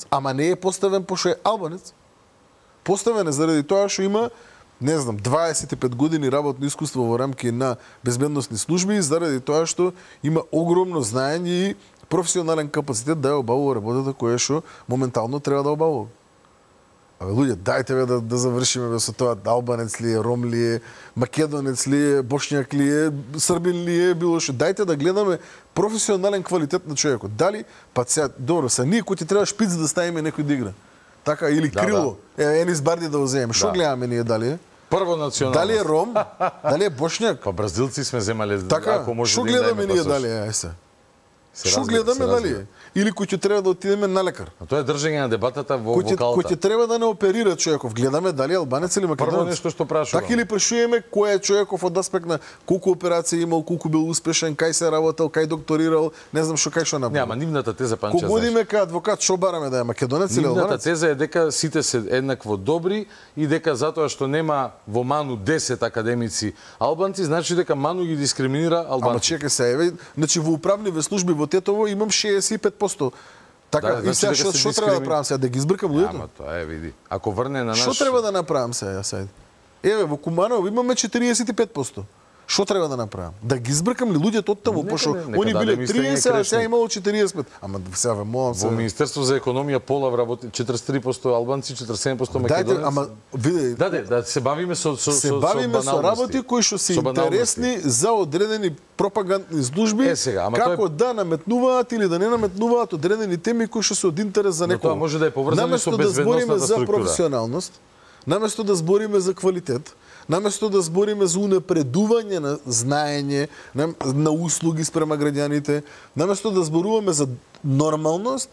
Ама не е поставен пошто е албанец. Поставен е заради тоа што има, не знам, 25 години работно искуство во рамки на безбедносни служби и заради тоа што има огромно знаење и професионален капацитет да ја обавува работата која што моментално треба да обавува. Абе, луѓе, дајте да завршиме со тоа, албанец ли е, ром ли е, македонец ли е, бошњак ли е, србин ли е, било што. Дајте да гледаме професионален квалитет на човекот. Дали, па сега, добро, са ние кои ти треба шпиц да ставиме некој да игра. Така, или крило, Енис Барди да го земеме. Што гледаме ние, дали е? Прво национално. Дали е ром, дали е бошњак? Па бразилци сме земале, така, ако може што да им гледаме дајме ние, пасош. дали е, ајсе? Што гледаме, дали? Или кој ќе треба да отидеме на лекар? А тоа е држење на дебатата во Кој ќе треба да не оперира човеков? Гледаме дали албанец или македонец? Прво нешто што прашувам. Така или прашуваме кој е човеков од аспект на колку операции имал, колку бил успешен, кај се работел, кај докторирал, не знам кај што направил. Нема, нивната теза панче. Кога одиме кај адвокат, што бараме да е македонец или албанец? Нивната теза е дека сите се еднакво добри и дека затоа што нема во Ману 10 академици албанци, значи дека Ману ги дискриминира албанци. Ама чекај се, еве, значи во управниве служби во Тетово имам 65%. Така, и сега што треба да правам сега? Да ги избркам луѓето? Ама тоа е, види. Ако врне на наш... Што треба да направам сега? Еве, во Куманово имаме 45%. Што треба да направам? Да ги избркам ли луѓето оттаму, пошто они биле 30, а сега имало 45. Ама сега молам се. Во Министерство за економија пола работи 43% албанци, 47% македонци. Ама види, да се бавиме со работи кои што се интересни за одредени пропагандни служби, како да наметнуваат или да не наметнуваат одредени теми кои што се од интерес за некој. Тоа може да е поврзано со безбедносната структура. Наместо да збориме за професионалност, наместо да збориме за квалитет, наместо да збориме за унапредување на знаење, на услуги спрема граѓаните, наместо да зборуваме за нормалност,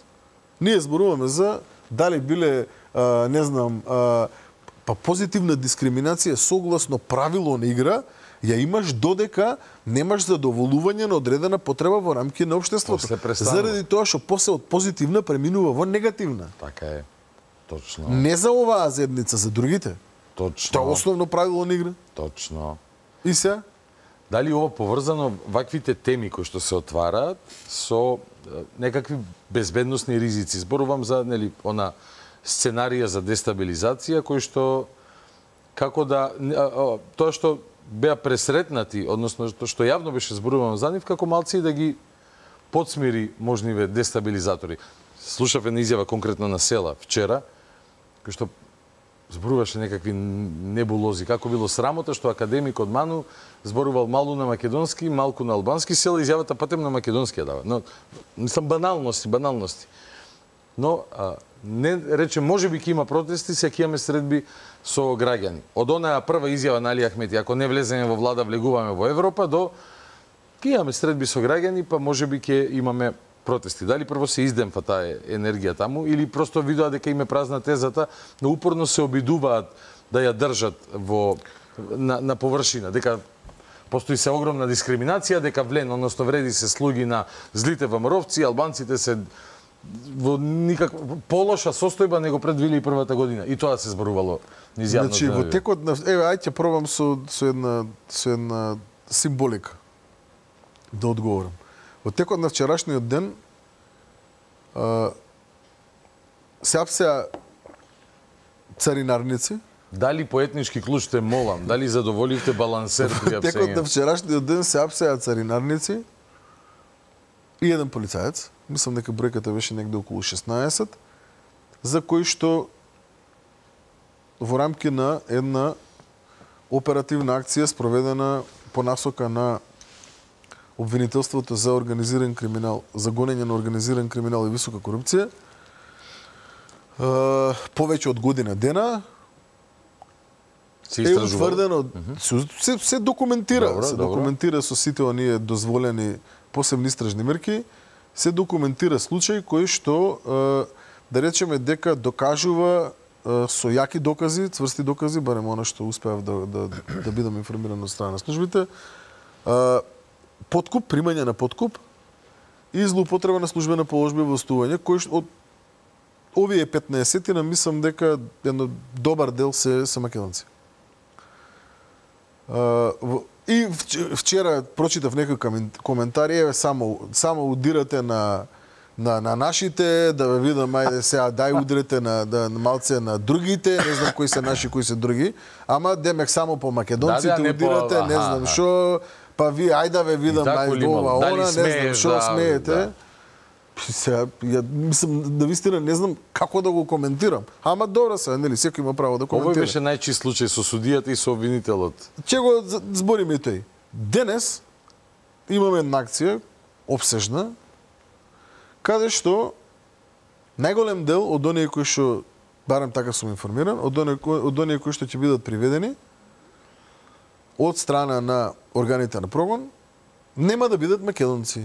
ние зборуваме за дали биле, не знам, па позитивна дискриминација согласно правило на игра, ја имаш додека немаш задоволување на одредена потреба во рамки на општеството. Заради тоа што после од позитивна преминува во негативна. Така е. Точно. Не за оваа заедница, за другите. Точно. Тоа е основно правило на игра. Точно. И се? Дали ова поврзано ваквите теми кои што се отвараат со некакви безбедносни ризици? Зборувам за она сценарија за дестабилизација кој што како да тоа што беа пресретнати, односно што јавно беше зборувано за нив, како малци да ги подсмири можниве дестабилизатори. Слушав една изјава конкретно на Села вчера, кој што зборуваше некакви небулози. Како било срамота што академикот Ману зборувал малку на македонски, малку на албански, Села изјавата патем на македонски ја дава. Но, мислам, баналности. Но, не рече, може би ќе има протести, се ќе имаме средби со граѓани. Од онаа прва изјава на Али Ахмети, ако не влеземе во влада, влегуваме во Европа, до ќе имаме средби со граѓани, па може би ќе имаме протести. Дали прво се издемфа таа енергија таму или просто видоа дека им е празна тезата, но упорно се обидуваат да ја држат на површина, дека постои се огромна дискриминација, дека односно вреди се слуги на злите ВМРО-вци, албанците се во никаква полоша состојба него пред 2001 година. И тоа се зборувало низ јавно. Значи во текот на ајде ќе пробам со една символика да одговорам. Во текот на вчерашниот ден се апсеа царинарници. Дали по етнички клуч те молам, дали задоволивте балансер при апсење? Во текот на вчерашниот ден се апсеа царинарници и еден полицаец, мислам дека бројката беше негде околу 16, за кои што во рамки на една оперативна акција спроведена по насока на обвинителството за организиран криминал, за гонење на организиран криминал и висока корупција, повеќе од година дена е утврдено, се документира, документира со сите оние дозволени посебни истражни мерки, се документира случај кој што, да речеме, дека докажува со јаки докази, цврсти докази, барем она што успеав да бидам информиран од страна на службите, подкуп, примање на подкуп и злоупотреба на службена положба и властување, кој од овие 15-тина мислам дека едно добар дел се македонци. И вчера прочитав некој коментари, еве само удирате на нашите, да ве видам, ајде сега дај удрете на малце на другите, не знам кои се наши, кои се други, ама демек само по македонците удирате, не знам што, па ви ајде да ве видам ова, она, не знам што смеете. Сега, мислам, навистина не знам како да го коментирам. Ама добро се, нели, секој има право да коментира. Овој беше најчист случај со судијата и со обвинителот. Ќе го збориме и тој. Денес имаме една акција, обсежна, каде што најголем дел од оние кои што, барем така сум информиран, од оние кои што ќе бидат приведени од страна на органите на прогон, нема да бидат македонци.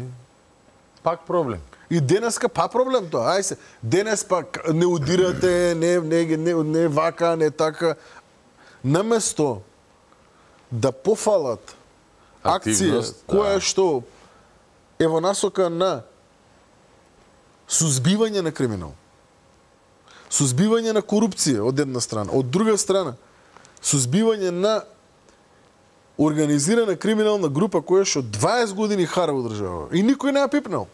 Пак проблем. И денеска па проблем тоа. Ај се, денес пак не удирате, не вака, не така. Наместо да пофалат акција која што е во насока на сузбивање на криминал, сузбивање на корупција од една страна, од друга страна сузбивање на организирана криминална група која што 20 години хара во држава и никој не ја пипнал.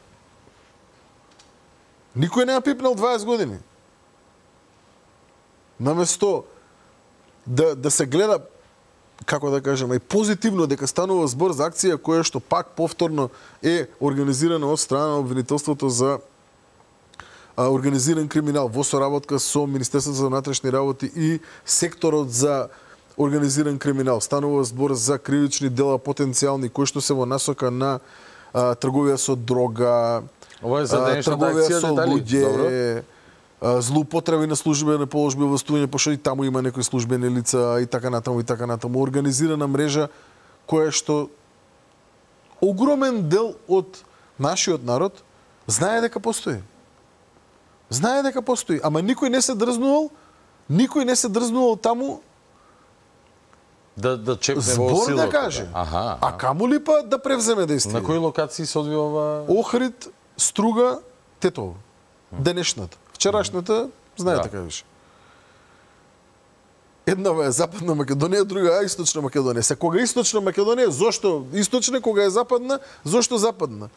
Никој не ја пипнал 20 години. Наместо да се гледа, како да кажем, и позитивно дека станува збор за акција која што пак повторно е организирана од страна на обвинителството за организиран криминал во соработка со Министерството за внатрешни работи и секторот за организиран криминал. Станува збор за кривични дела потенцијални кои што се во насока на трговија со дрога, ова е за денешната трговија акција, со луѓе, злоупотреби на службени положби во властување, пошто и таму има некои службени лица и така натаму, организирана мрежа која што огромен дел од нашиот народ знае дека постои. Знае дека постои, ама никој не се дрзнувал таму да чепне во збор силата. да каже. Аха. А камо ли па да превземе действие? На кои локации се одвива ова? Охрид, Струга, Тетово. Денешната. Вчерашната, знаете како беше. Еднава е Западна Македонија, друга е Источна Македонија. Се кога е Источна Македонија, зошто Источна, кога е Западна, зошто Западна?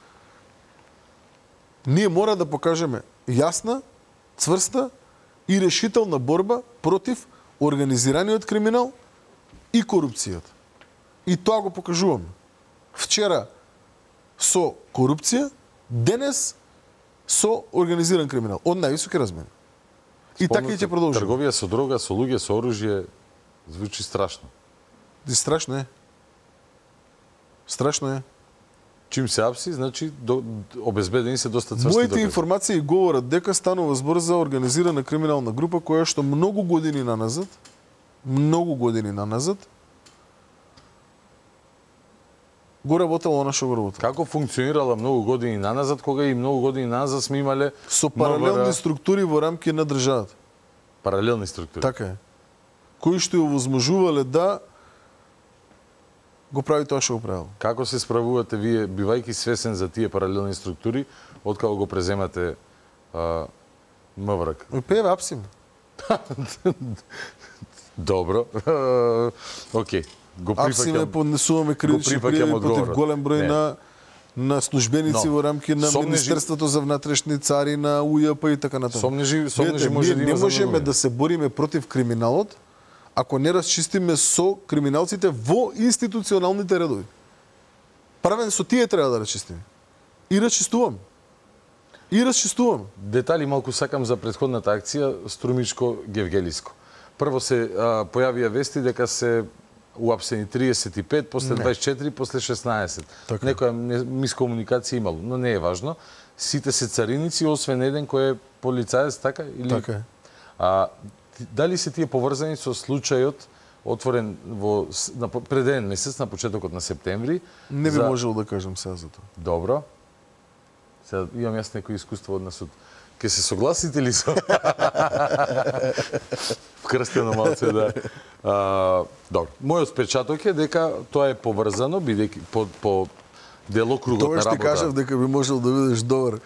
Ние мора да покажеме јасна, цврста и решителна борба против организираниот криминал и корупцијата. И тоа го покажуваме. Вчера со корупција, денес со организиран криминал. Од највисоки размери. И така и ќе продолжи. Трговија со дрога, со луѓе, со оружје, звучи страшно. И страшно е. Страшно е. Чим се апси, значи обезбедени се доста цврсти Моите докази. информации говорат дека станува збор за организирана криминална група која што многу години наназад го работела она што го работела. Како функционирала многу години наназад, кога и многу години наназад сме имале со паралелни структури во рамки на државата. Паралелни структури. Така е. Кои што ја возможувале да го прави тоа што го правил. Како се справувате вие, бивајќи свесен за тие паралелни структури, откако го преземате МВР? Певе апсим. Добро. Океј. Го апсиме, поднесуваме кривични пријави против голем број на службеници во рамки на Министерството за внатрешни цари, на УЈП и така натаму. Сомнежи може да има. Не можеме да се бориме против криминалот ако не расчистиме со криминалците во институционалните редови. Правен со тие треба да расчистиме. И расчистувам. Детали малку сакам за претходната акција Струмичко-Гевгелиско. Прво се појавија вести дека се уапсени 35, после 24, после 16. Така. Некоја мискомуникација имало, но не е важно. Сите се цариници, освен еден кој е полицаец, така? Или... Така е. Дали се тие поврзани со случајот отворен пред еден месец, на почетокот на септември? Не би можел да кажам сега за тоа. Добро. Сега имам јас некој искуство од насуд. Ке се согласите ли со... Вкрстено малце, да. Добро. Мојот впечаток е дека тоа е поврзано, бидејќи по делокругот на работа. Тоа што кажав дека би можел да бидеш добар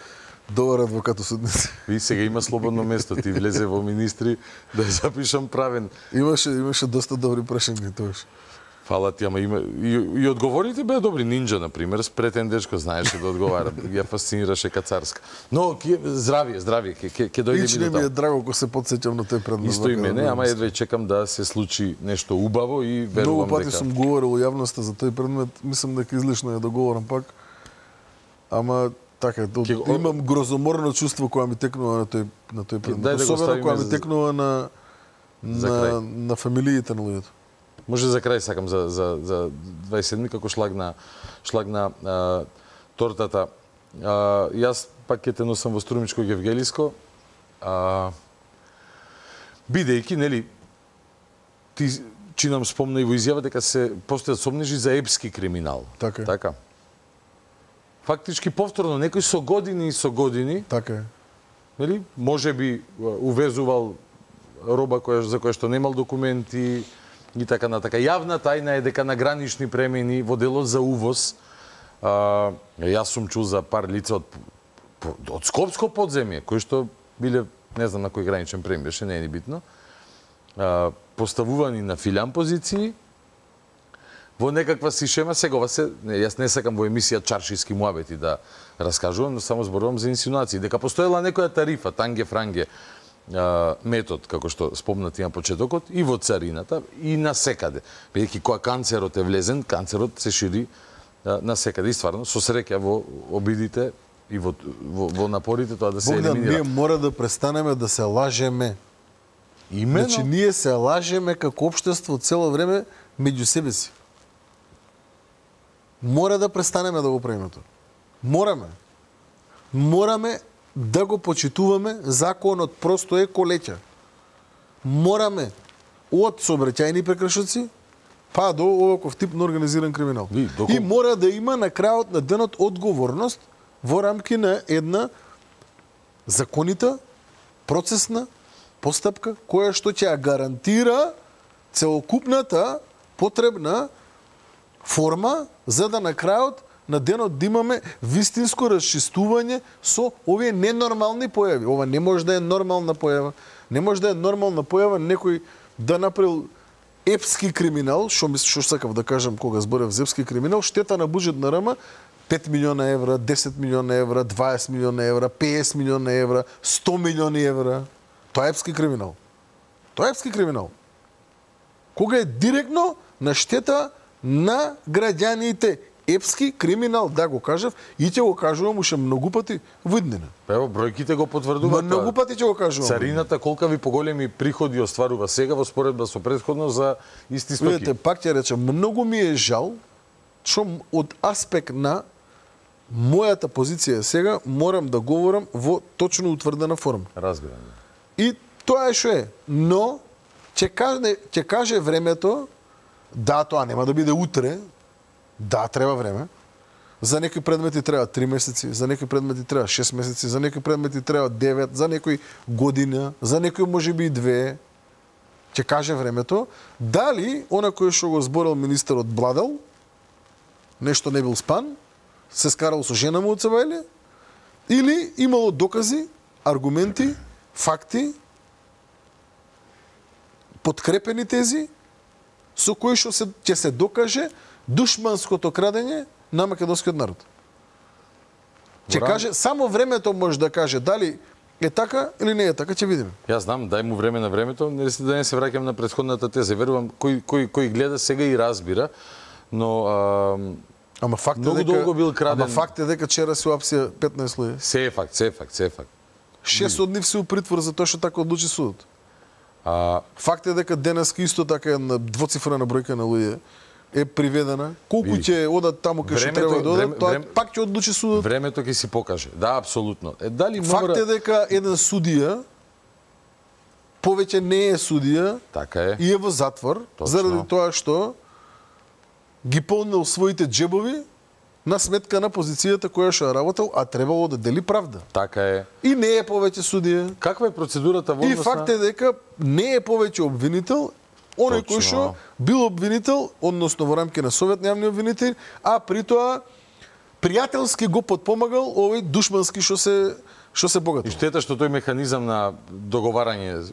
адвокат осудници. Ви сега има слободно место, ти влезе во министри да запишам правен. Имаше доста добри прашања тоаш. Фала ти, ама има и одговорите беа добри. Нинџа на пример, спретен дечко знаеше да одговара, ја фасцинираше Кацарска. Но здравие, ќе дојде Лично ми е драго кога се потсеќам на тој предмет. Исто и мене, ама едва чекам да се случи нешто убаво и верувам дека. Многу пати сум говорил во јавноста за тој предмет, мислам дека излишно е да говорам пак. Ама така, имам грозоморно чувство кога ми текнува на тој предмет. Особено кога ми текнува на фамилиите на луѓето. Може за крај сакам за 27 како шлаг на тортата. Јас пак ќе те носам во Струмичко-Гевгелиско. Бидејќи, нели, ти чинам спомна и во изјава дека се постојат сомнежи за епски криминал. Така. фактички повторно некој со години и со години, така е. Нели, можеби увезувал роба за која што немал документи и така натака. Јавна тајна е дека на гранични премини во делот за увоз, јас сум чул за пар лица од Скопско подземје, кои што биле, не знам на кој граничен премин беше, не е ни битно, поставувани на филиан позиции, во некаква си шема, сега јас не сакам во емисија чаршиски муабети да раскажувам, но само зборувам за инсинуации, дека постоела некоја тарифа, танге-франге, метод, како што спомнати на почетокот, и во царината, и на секаде. Бидејќи кога канцерот е влезен, канцерот се шири на секаде. И стварно, со среќа во обидите и во напорите тоа да се Богдан, елиминира. ние мора да престанеме да се лажеме. Имено. Значи, ние се лажеме како општество цело време меѓу себе си. Мора да престанеме да го правиме тоа. Мораме. Мораме да го почитуваме законот, просто е колеќа. Мораме од сообраќајни прекршоци па до оваков тип на организиран криминал. И мора да има на крајот на денот одговорност во рамки на една законита, процесна постапка која што ќе ја гарантира целокупната потребна форма за да на крајот на денот да имаме вистинско расчистување со овие ненормални појави. Ова не може да е нормална појава. Не може да е нормална појава некој да направил епски криминал, што сакав да кажам кога зборев за епски криминал, штета на буџет на РМ 5 милиона евра, 10 милиона евра, 20 милиона евра, 50 милиона евра, 100 милиони евра. Тоа е епски криминал. Тоа е епски криминал. Кога е директно на штета на граѓаните. Епски криминал, да го кажав, и ќе го кажувам уште многу пати во иднина. Ево, бројките го потврдуваат. Многу пати ќе го кажувам. Царината колка ви поголеми приходи остварува сега во споредба со претходно за исти стоки. Видете, пак ќе речем, многу ми е жал што од аспект на мојата позиција сега морам да говорам во точно утврдена форма. Разбирам. И тоа е што е. Но ќе каже времето, да, тоа нема да биде утре. Да, треба време. За некои предмети треба 3 месеци, за некои предмети треба 6 месеци, за некои предмети треба 9, за некои година, за некои можеби и 2. Ќе каже времето, дали она кој што го зборил министерот бладал, нешто не бил спан, се скарал со жена му од Цевајле, или имало докази, аргументи, факти, подкрепени тези, со кои што ќе се докаже душманското крадење на македонскиот народ. Ќе каже, само времето може да каже дали е така или не е така, ќе видиме. Јас знам, дај му време на времето, да не се враќам на претходната теза. Верувам, кој гледа сега и разбира, но ама факт многу долго бил краден. Ама факт е дека вчера се уапсија 15 луѓе. Се е факт. 6 од нив се у притвор за тоа што така одлучи судот. Факт е дека денеска исто така една двоцифрена бројка на луѓе е приведена. Колку ќе одат таму кај што треба да одат, тоа пак ќе одлучи судот. Времето ќе си покаже. Да, апсолутно. Дали факт е дека еден судија повеќе не е судија, така е. И е во затвор заради тоа што ги полнил своите джебови на сметка на позицијата која што работел, а требало да дели правда. Така е. И не е повеќе судија. Каква е процедурата во однос на... И факт е дека не е повеќе обвинител, оној кој што бил обвинител, односно во рамки на Совет на јавни обвинители, а при тоа пријателски го подпомагал овој душмански што се богател. И штета што тој механизам на договарање,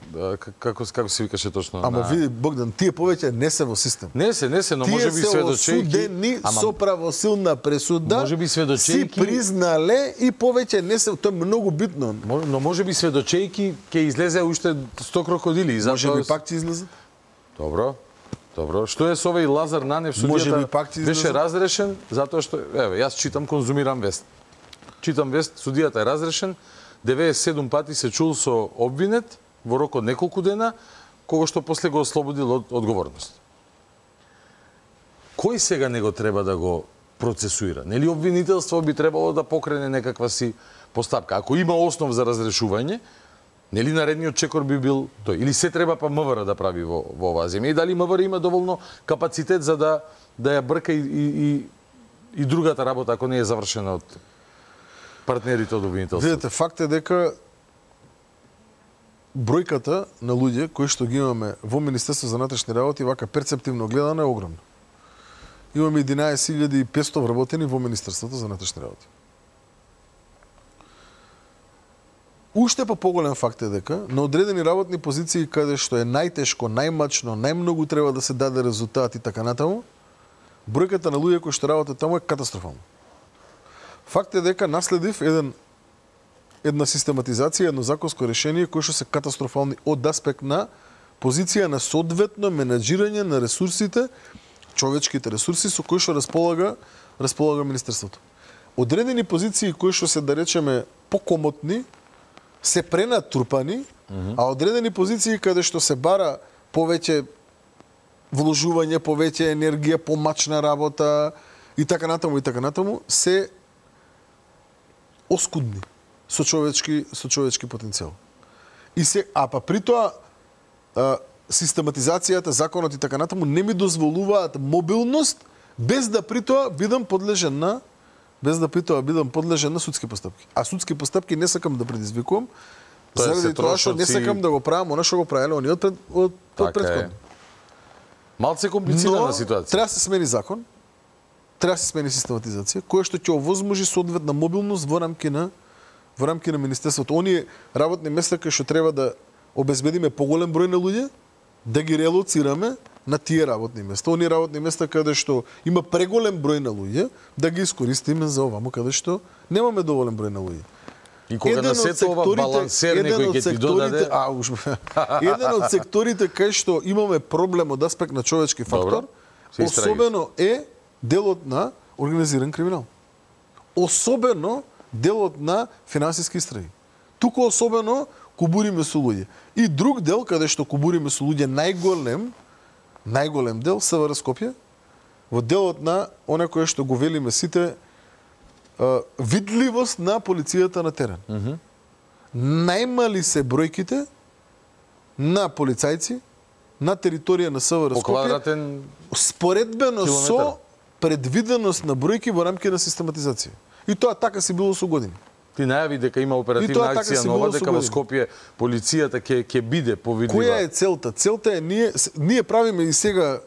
како се викаше точно? Ама види, Богдан, тие повеќе не се во систем. Не се, но може би сведочејки... Тие се осудени со правосилна пресуда, може би сведочејки... си признале и повеќе не се... Тоа е многу битно. Но може би сведочејки ќе излезе уште 100 крокодили. Може би пак ќе излезе. Добро. Што е со овој Лазар Нанев, судијата беше разрешен, затоа што, еве, јас читам, конзумирам вест. Читам вест, судијата е разрешен, 97 пати се чул со обвинет во рок од неколку дена, кога што после го ослободил од одговорност. Кој сега него треба да го процесуира? Нели обвинителство би требало да покрене некаква си постапка? Ако има основ за разрешување, нели наредниот чекор би бил тој? Или се треба па МВР да прави во оваа земја? И дали МВР има доволно капацитет за да ја брка и и другата работа ако не е завршена од партнерите од обвинителството? Видете, факт е дека бројката на луѓе кои што ги имаме во Министерство за внатрешни работи вака перцептивно гледано е огромна. Имаме 11.500 вработени во Министерството за внатрешни работи. Уште па поголем факт е дека на одредени работни позиции каде што е најтешко, најмачно, најмногу треба да се даде резултат и така натаму, бројката на луѓе кои што работат таму е катастрофална. Факт е дека наследив една систематизација, едно законско решение кои што се катастрофални од аспект на позиција на соодветно менаџирање на ресурсите, човечките ресурси со кои што располага Министерството. Одредени позиции кои што се, да речеме, покомотни, се пренатрупани, а одредени позиции каде што се бара повеќе вложување, повеќе енергија, помачна работа и така натаму, се оскудни со човечки потенцијал. Па при тоа систематизацијата, законот и така натаму не ми дозволуваат мобилност без да при тоа бидам подлежен на судски постапки. А судски постапки не сакам да предизвикувам, заради тоа што не сакам да го правам она што го правеле они од претходно. Малце комплицирана ситуација. Треба да се смени закон, треба да се смени систематизација, која што ќе овозможи соодветна мобилност во рамки на Министерството. Оние работни места кои што треба да обезбедиме поголем број на луѓе, да ги релоцираме на тие работни места. Оние работни места каде што има преголем број на луѓе, да ги искористиме за овамо каде што немаме доволен број на луѓе. И кога на сето ова балансер некој ќе ти додаде... Еден од секторите кај што имаме проблем од аспект на човечки фактор, особено е делот на организиран криминал. Особено делот на финансиски истраги. Туку особено кубуриме со луѓе. И друг дел каде што кубуриме со луѓе најголем дел СВР Скопје, во делот на оне кое што го велиме сите видливост на полицијата на терен. Најмали се бројките на полицајци на територија на СВР Скопје споредбено со предвиденост на бројки во рамки на систематизација. И тоа така си било со години. Ти најави дека има оперативна акција нова, дека во Скопје полицијата ќе биде повидлива. Која е целта? Целта е ние правиме и сега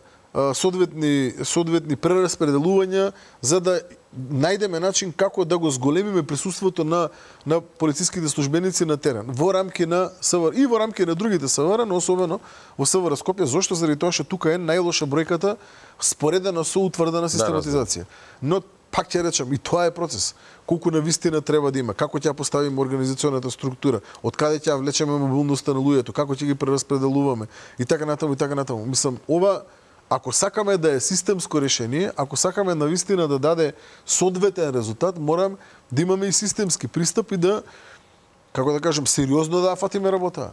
соодветни прераспределувања за да најдеме начин како да го зголемиме присуството на полициските службеници на терен во рамки на СВР и во рамки на другите СВР, но особено во СВР Скопје. Зошто? Заради тоа што тука е најлоша бројката споредена со утврдена систематизација. Но пак ќе речам, и тоа е процес. Колку навистина треба да има, како ќе поставиме организационата структура, од каде ќе влечеме мобилноста на луѓето, како ќе ги прераспределуваме и така натаму. Мислам, ова ако сакаме да е системско решение, ако сакаме навистина да даде соодветен резултат, морам да имаме и системски пристап и да, како да кажем, сериозно да фатиме работа.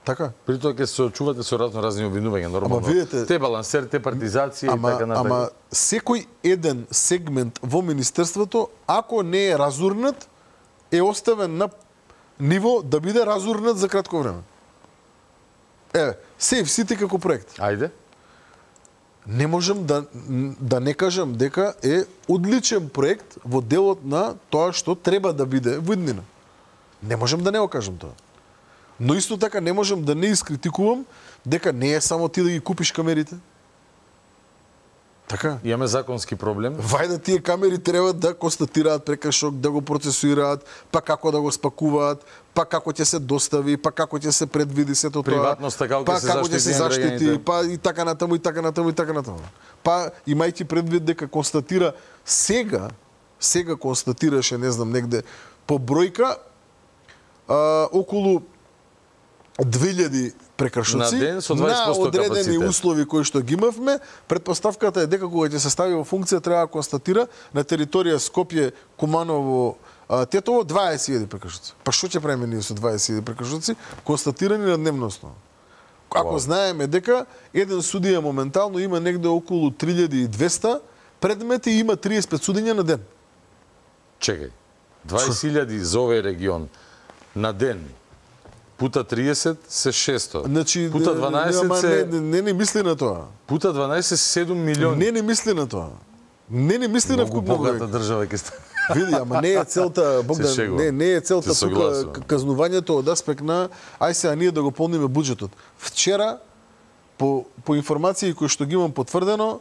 Така? При тоа ќе се очувате со разни обвинувања, нормално. Видите, те балансер, те партизација и така натаму. Ама секој еден сегмент во Министерството, ако не е разурнат, е оставен на ниво да биде разурнат за кратко време. Сейф Сити како проект. Ајде. Не можам да не кажам дека е одличен проект во делот на тоа што треба да биде во иднина. Не можам да не го кажам тоа. Но исто така не можам да не искритикувам дека не е само ти да ги купиш камерите. Така? Имаме законски проблем. Вајде тие камери треба да констатираат прекршок, да го процесуираат, па како да го спакуваат, па како ќе се достави, па како ќе се предвиди сето тоа. Приватноста како ќе се заштити, па и така натаму. Па имајќи предвид дека констатира сега констатираше, не знам, негде по бројка околу 2000 прекршоци на одредени услови кои што ги имавме. Предпоставката е дека кога ќе се стави во функција треба да констатира на територија Скопје, Куманово, Тетово 20.000 прекршоци. Па што ќе правиме ние со 20.000 прекршоци констатирани на дневна основа? Ако знаеме дека еден судија моментално има негде околу 3200 предмети и има 35 судења на ден. Чекај. 20.000 за овој регион на ден. Пута 30 се 600. Значи, пута 12 се... Не мисли на тоа. Пута 12 се 7 милиони. Не мисли на тоа. Не мисли на вкупно богата држава ќе стане. Види, ама не е целта, Богдан, не е целта тука казнувањето од аспект на ај сега ние да го полниме буџетот. Вчера по информации кои што ги имам потврдено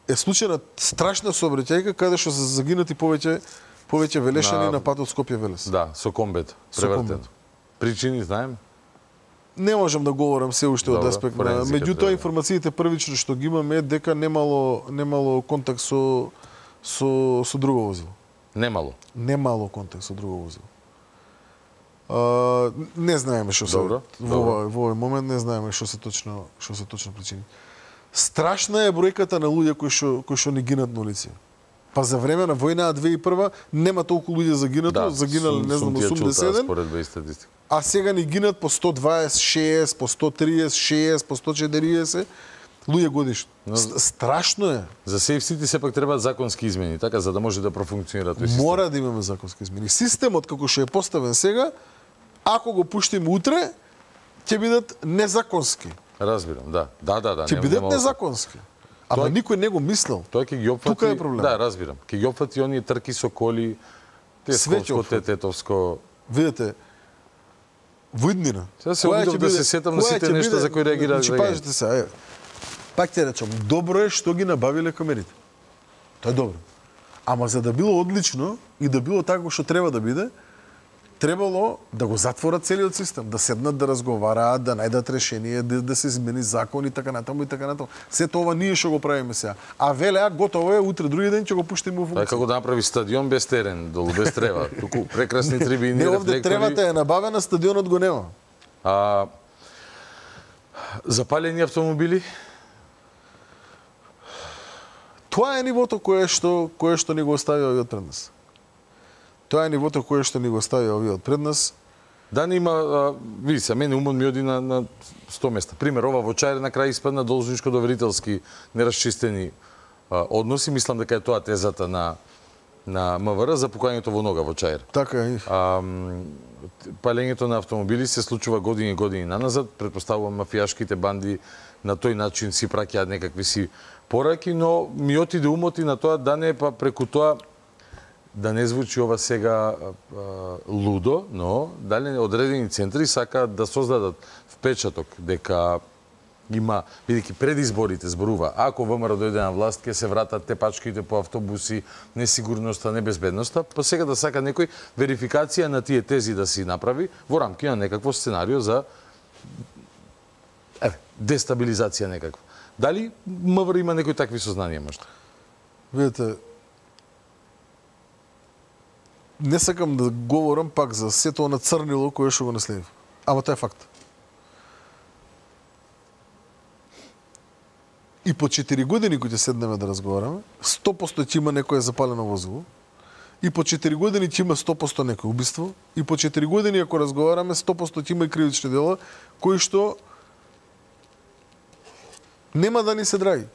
е случајна страшна сообраќајка каде што се загинати повеќе велешани на патот Скопје-Велес. Да, со комбет превртено. Причини знаем? Не можам да говорам се уште од аспект на. Меѓутоа информациите првично што ги имаме е дека немало контакт со друго возило. Немало контакт со друго возило. Не знаеме што се во овој момент, не знаеме што се точно причини. Страшна е бројката на луѓе кои што не гинат на улици. Па за време на војна 2001 нема толку луѓе загинале, не знам, 87. А сега ни гинат по 126, по 136, по 140 луѓе годишно. Страшно е. За сейфсити сепак требаат законски измени, така за да може да профункционира тој систем. Мора да имаме законски измени. Системот како што е поставен сега, ако го пуштиме утре, ќе бидат незаконски. Разбирам, да. Ќе бидат незаконски. Ама никој не го мислел. Тоа ќе ги опфати. Тука е проблем. Да, разбирам. Ќе ги опфати оние трки со коли, Тесковско, Тетовско. Видете, во иднина. Сега се обидов да се сетам на сите нешта за кои реагираат. Значи, пазите се, пак ќе речам, добро е што ги набавиле камерите. Тоа е добро. Ама за да било одлично и да било така што треба да биде, требало да го затворат целиот систем, да седнат да разговараат, да најдат решение, да се измени закон и така натаму и така натаму. Сето ова ние што го правиме сега. А велеа готово е, утре други ден ќе го пуштиме во функција. Како да направи стадион без терен, долу без трева, туку прекрасни трибини, не, овде тревата е набавена, стадионот го нема. Запалени автомобили? Тоа е нивото кое што ни го остави овиот пред нас. Тоа е нивото кое што ни го остави овиот пред нас. Да, не има, види се, мене умот ми оди на 100 места. Пример, ова во Чаир на крај испадна должничко-доверителски нерасчистени односи. Мислам дека е тоа тезата на МВР за пукањето во нога во Чаир. Така е. Палењето на автомобили се случува години наназад. Претпоставувам мафијашките банди на тој начин си праќаат некакви си пораки, но ми отиде умот и на тоа да не па преку тоа да не звучи ова сега лудо, но дали одредени центри сакаат да создадат впечаток дека има, бидејќи пред изборите зборува, ако ВМРО дојде на власт, ќе се вратат тепачките по автобуси, несигурноста, небезбедноста, па сега да сака некој верификација на тие тези да си направи во рамки на некакво сценарио за дестабилизација некаква. Дали МВР има некои такви сознанија можда? Видете, не сакам да говорам пак за сето на црнило кое што го наследив. Ама тоа е факт. И по 4 години кои ќе седнеме да разговараме, 100% ќе има некое запалено возило. И по 4 години ќе има 100% некој убиство. И по 4 години ако разговараме, 100% ќе има и кривични дела кои што нема да ни се драги.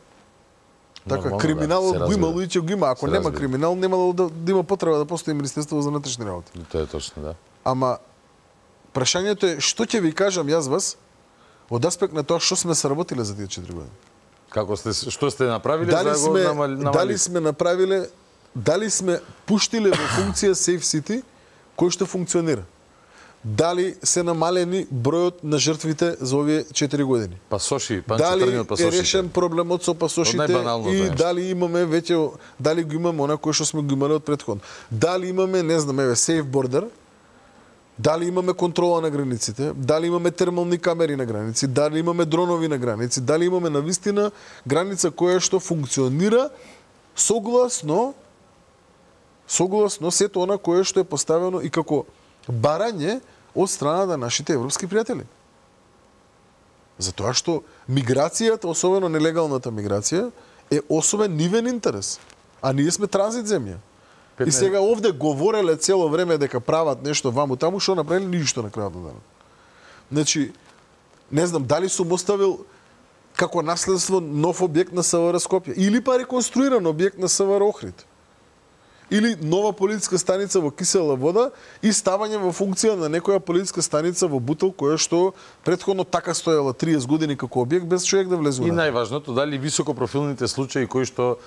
Така, криминалот го има, луѓе го има. Ако нема криминал, нема да има потреба да постои Министерство за внатрешни работи. Тоа е точно, да. Ама прашањето е што ќе ви кажам јас вас од аспект на тоа што сме сработиле за тие 4 години. Што сте направиле за да го намалите? Дали сме направиле, дали сме пуштиле во функција Safe City кој што функционира? Дали се намалени бројот на жртвите за овие 4 години? Пасоши, дали е решен проблемот со пасошите и дали имаме веќе, дали го имаме она кој што сме го имале од претходно? Дали имаме, не знам, Safe Border? Дали имаме контрола на границите? Дали имаме термални камери на граници? Дали имаме дронови на граници? Дали имаме навистина граница која што функционира согласно сето она кое што е поставено и како барање од страна на нашите европски пријатели. Затоа што миграцијата, особено нелегалната миграција, е особен нивен интерес. А ние сме транзит земја. И сега овде говореле цело време дека прават нешто ваму таму, што направили ништо на крајот на денот. Значи, не знам, дали сум оставил како наследство нов објект на СВР Скопје или па реконструиран објект на СВР Охрид. или нова полициска станица во Кисела Вода и ставање во функција на некоја полициска станица во Бутел, која што претходно така стоела 30 години како објект без човек да влезе. И најважното, дали високопрофилните случаи кои што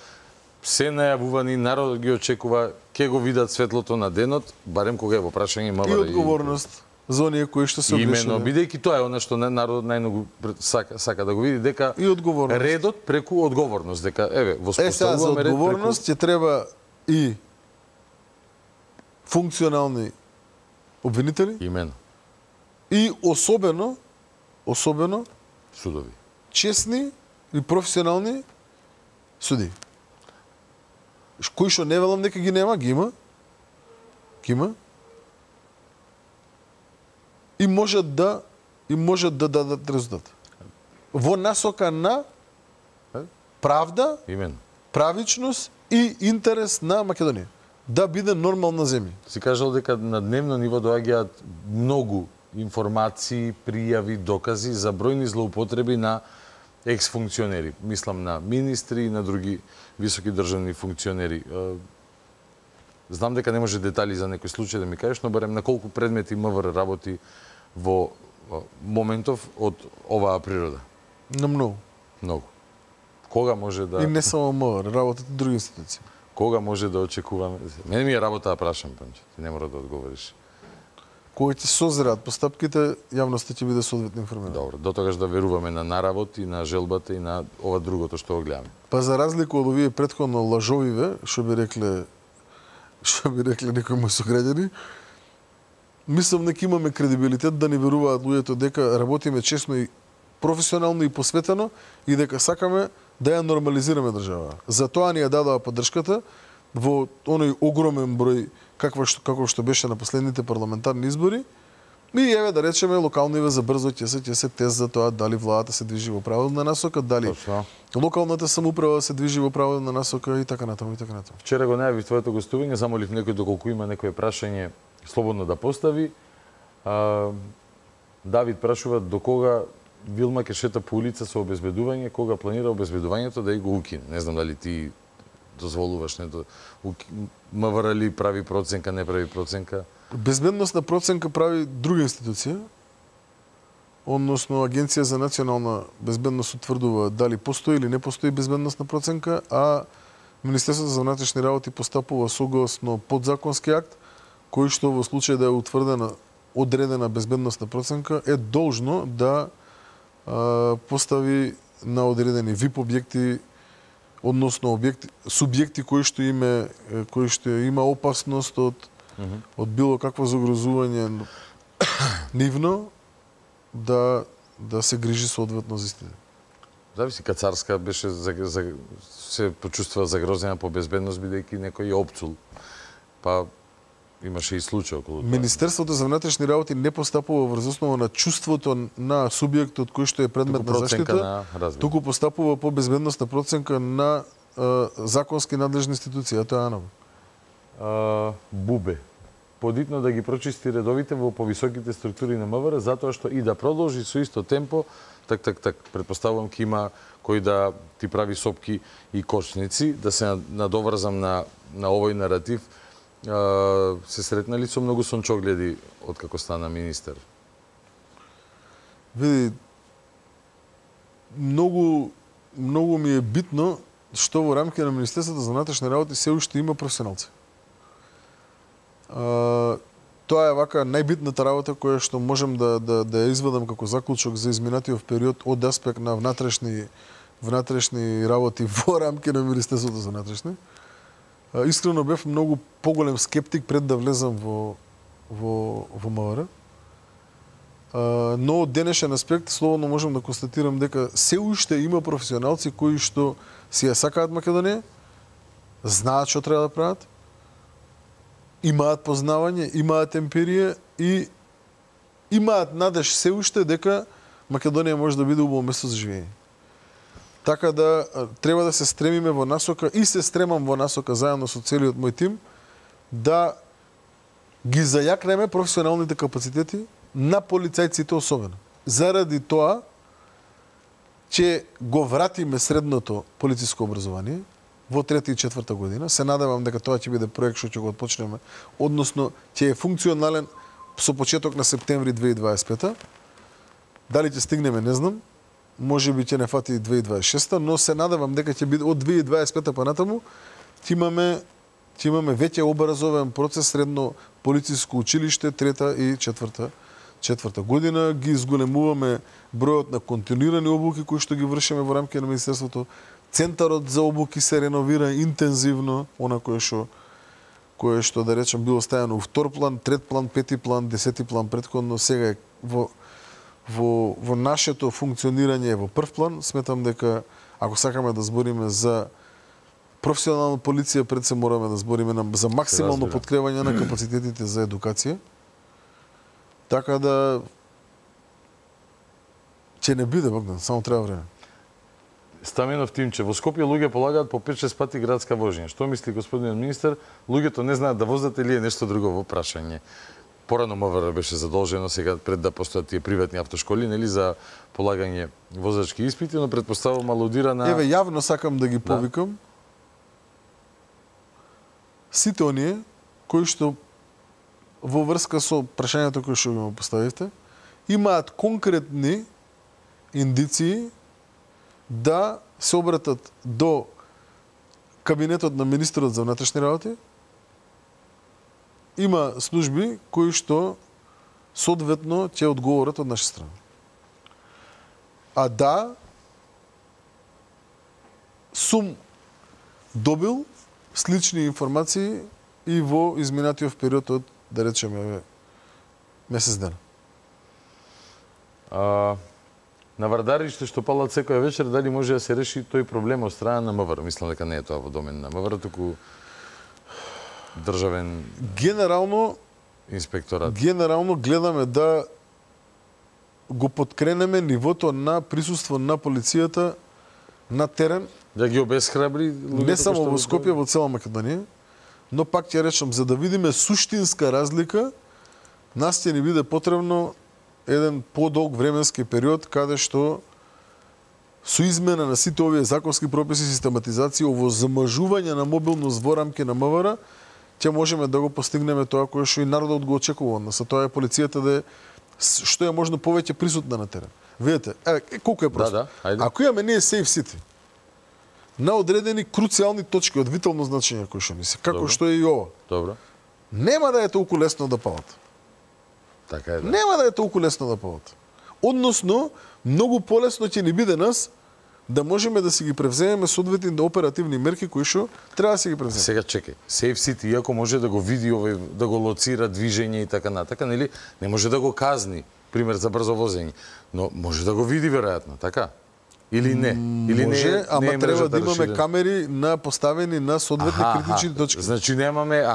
се најавувани, народот ги очекува, ќе го видат светлото на денот, барем кога е во прашање МВР. И одговорност за оние кои што се облечени. Именно, бидејќи тоа е она што народот најмногу сака да го види, дека и одговорност. Редот преку одговорност, дека еве воспоставуваме ред. За одговорност ќе треба и функционални обвинители. Именно. И особено судови. Честни и професионални суди. Кои што не велам дека ги нема, ги има. И можат да дадат резултат. Во насока на правда, именно, правичност и интерес на Македонија. Да биде нормална земја. Си кажал дека на дневно ниво доаѓаат многу информации, пријави, докази за бројни злоупотреби на екс-функционери. Мислам на министри и на други високи државни функционери. Знам дека не може детали за некој случај да ми кажеш, но барем на колку предмети МВР работи во моментов од оваа природа? На многу. Многу. Кога може да... И не само МВР, работат и други институции. Кога може да очекуваме? Мене ми е работа да прашам, Пенче. Ти не мора да одговориш. Кога ќе созреат постапките, јавноста ќе биде соодветно информирана. Добро, до тогаш да веруваме на наравот и на желбата и на ова другото што го гледаме. Па за разлика од овие претходно лажовиве, што би рекле некои мои сограѓани, мислам дека имаме кредибилитет да ни веруваат луѓето дека работиме честно и професионално и посветено и дека сакаме да ја нормализираме држава. Затоа ни ја дадоа поддршката во оној огромен број како што беше на последните парламентарни избори. И еве да речеме локалниве за брзо ќе се тест за тоа дали владата се движи во правилна насока, дали локалната самоуправа се движи во правилна насока и така натаму. Вчера го најавив твоето гостување, замолив некој доколку има некое прашање слободно да постави. Давид прашува до кога Вилма ќе шета по улица со обезбедување, кога планира обезбедувањето да и го укине. Не знам дали ти дозволуваш, МВР ли прави проценка, не прави проценка? Безбедносна проценка прави друга институција, односно Агенција за национална безбедност утврдува дали постои или не постои безбедносна проценка, а Министерството за внатрешни работи постапува согласно подзаконски акт, кој што во случај да е утврдена одредена безбедносна проценка е должно да постави на одредени ВИП објекти, односно субјекти кои што има опасност од било какво загрозување нивно да се грижи соодветно за истина. Зависи, Кацарска беше се почувствува загрозена по безбедност бидејќи некој ја опцул. Па имаше и случај околу тоа. Министерството за внатрешни работи не постапува врз основа на чувството на субјектот кој што е предмет на заштита, туку постапува по безбедносна проценка на законски надлежни институции, а тоа е АНАВ. Бубе. Подитно да ги прочисти редовите во повисоките структури на МВР, затоа што и да продолжи со исто темпо, предпоставувам ќе има кој да ти прави сопки и кочници, да се надоврзам на овој наратив. Се сретнали со многу сончогледи од како стана министер? Види, многу ми е битно што во рамки на Министерството за внатрешни работи се уште има професионалци. Тоа е вака најбитната работа која што можем да ја извадам како заклучок за изминатиот период од аспект на внатрешни работи во рамки на Министерството за внатрешни. Искрено бев многу поголем скептик пред да влезам во МВР. Но од денешен аспект слободно можам да констатирам дека се уште има професионалци кои што си ја сакаат Македонија, знаат што треба да прават, имаат познавање, имаат емпирија и имаат надеж се уште дека Македонија може да биде убаво место за живење. Така да треба да се стремиме во насока и се стремам во насока заедно со целиот мој тим да ги зајакнеме професионалните капацитети на полицајците особено. Заради тоа че го вратиме средното полициско образование, во 3-та и 4-та година. Се надевам дека тоа ќе биде проект што ќе го отпочнеме, односно ќе е функционален со почеток на септември 2025. Дали ќе стигнеме, не знам. Може би ќе не фати 2026, но се надевам дека ќе биде од 2025 па натаму ќе имаме веќе образовен процес средно полициско училиште 3-та и 4-та година. Ги изголемуваме бројот на континуирани обуки кои што ги вршиме во рамките на Министерството. Центарот за обуки се реновира интензивно, она кое што да речем било ставено у втор план, трет план, пети план, 10ти план претходно, сега е во нашето функционирање во прв план. Сметам дека ако сакаме да збориме за професионална полиција, пред се мораме да збориме за максимално подкрепање на капацитетите за едукација. Така да ќе не биде, Богдан, само треба време. Стаменов Тимче, во Скопје луѓе полагаат по 5-6 пати градска вожња. Што мисли господинот министер? Луѓето не знаат да возат или е нешто друго во прашање? Порано МВР беше задолжено сега пред да постојат тие приватни автошколи, нели, за полагање возачки испити, но претпоставувам алудира на... Еве, јавно сакам да ги повикам сите оние кои што во врска со прашањето кои што го поставивте, имаат конкретни индиции да се обратат до кабинетот на министерот за внатрешни работи. Има служби кои што соодветно ќе одговорат од наша страна. А да, сум добил слични информации и во изминатиот период од, да речеме, месец дена. На Вардариште што палат секоја вечер, дали може да се реши тој проблем од страна на МВР? Мислам дека не е тоа во домен на МВР, туку државен инспекторат. Генерално гледаме да го подкренеме нивото на присуство на полицијата на терен. Да ги обесхрабри луѓето. Не само во Скопје, во цела Македонија, но пак ќе речам, за да видиме суштинска разлика, нас ќе ни биде потребно еден подолг временски период каде што со измена на сите овие законски прописи, систематизација, овозможување на мобилност во рамки на МВР, ќе можеме да го постигнеме тоа кое што и народот го очекува од нас. Тоа е полицијата да е што е можно повеќе присутна на терен. Видете, колку е просто. Ако имаме ние Safe City на одредени круцијални точки од витално значење кои што ни се, како што е и ова. Добро. Нема да е толку лесно да палат. Така е, да. Нема да е толку лесно да палат. Односно, многу полесно ќе ни биде нас да можеме да си ги превземеме соодветните оперативни мерки кои што треба да си ги превземеме. Сега чекај, Safe City, иако може да го види овој, да го лоцира движење и така натака, нели, не може да го казни, пример за брзо возење, но може да го види веројатно, така? Или не? Или може, не, ама не треба да имаме камери на поставени на соодветни критични точки. Значи немаме,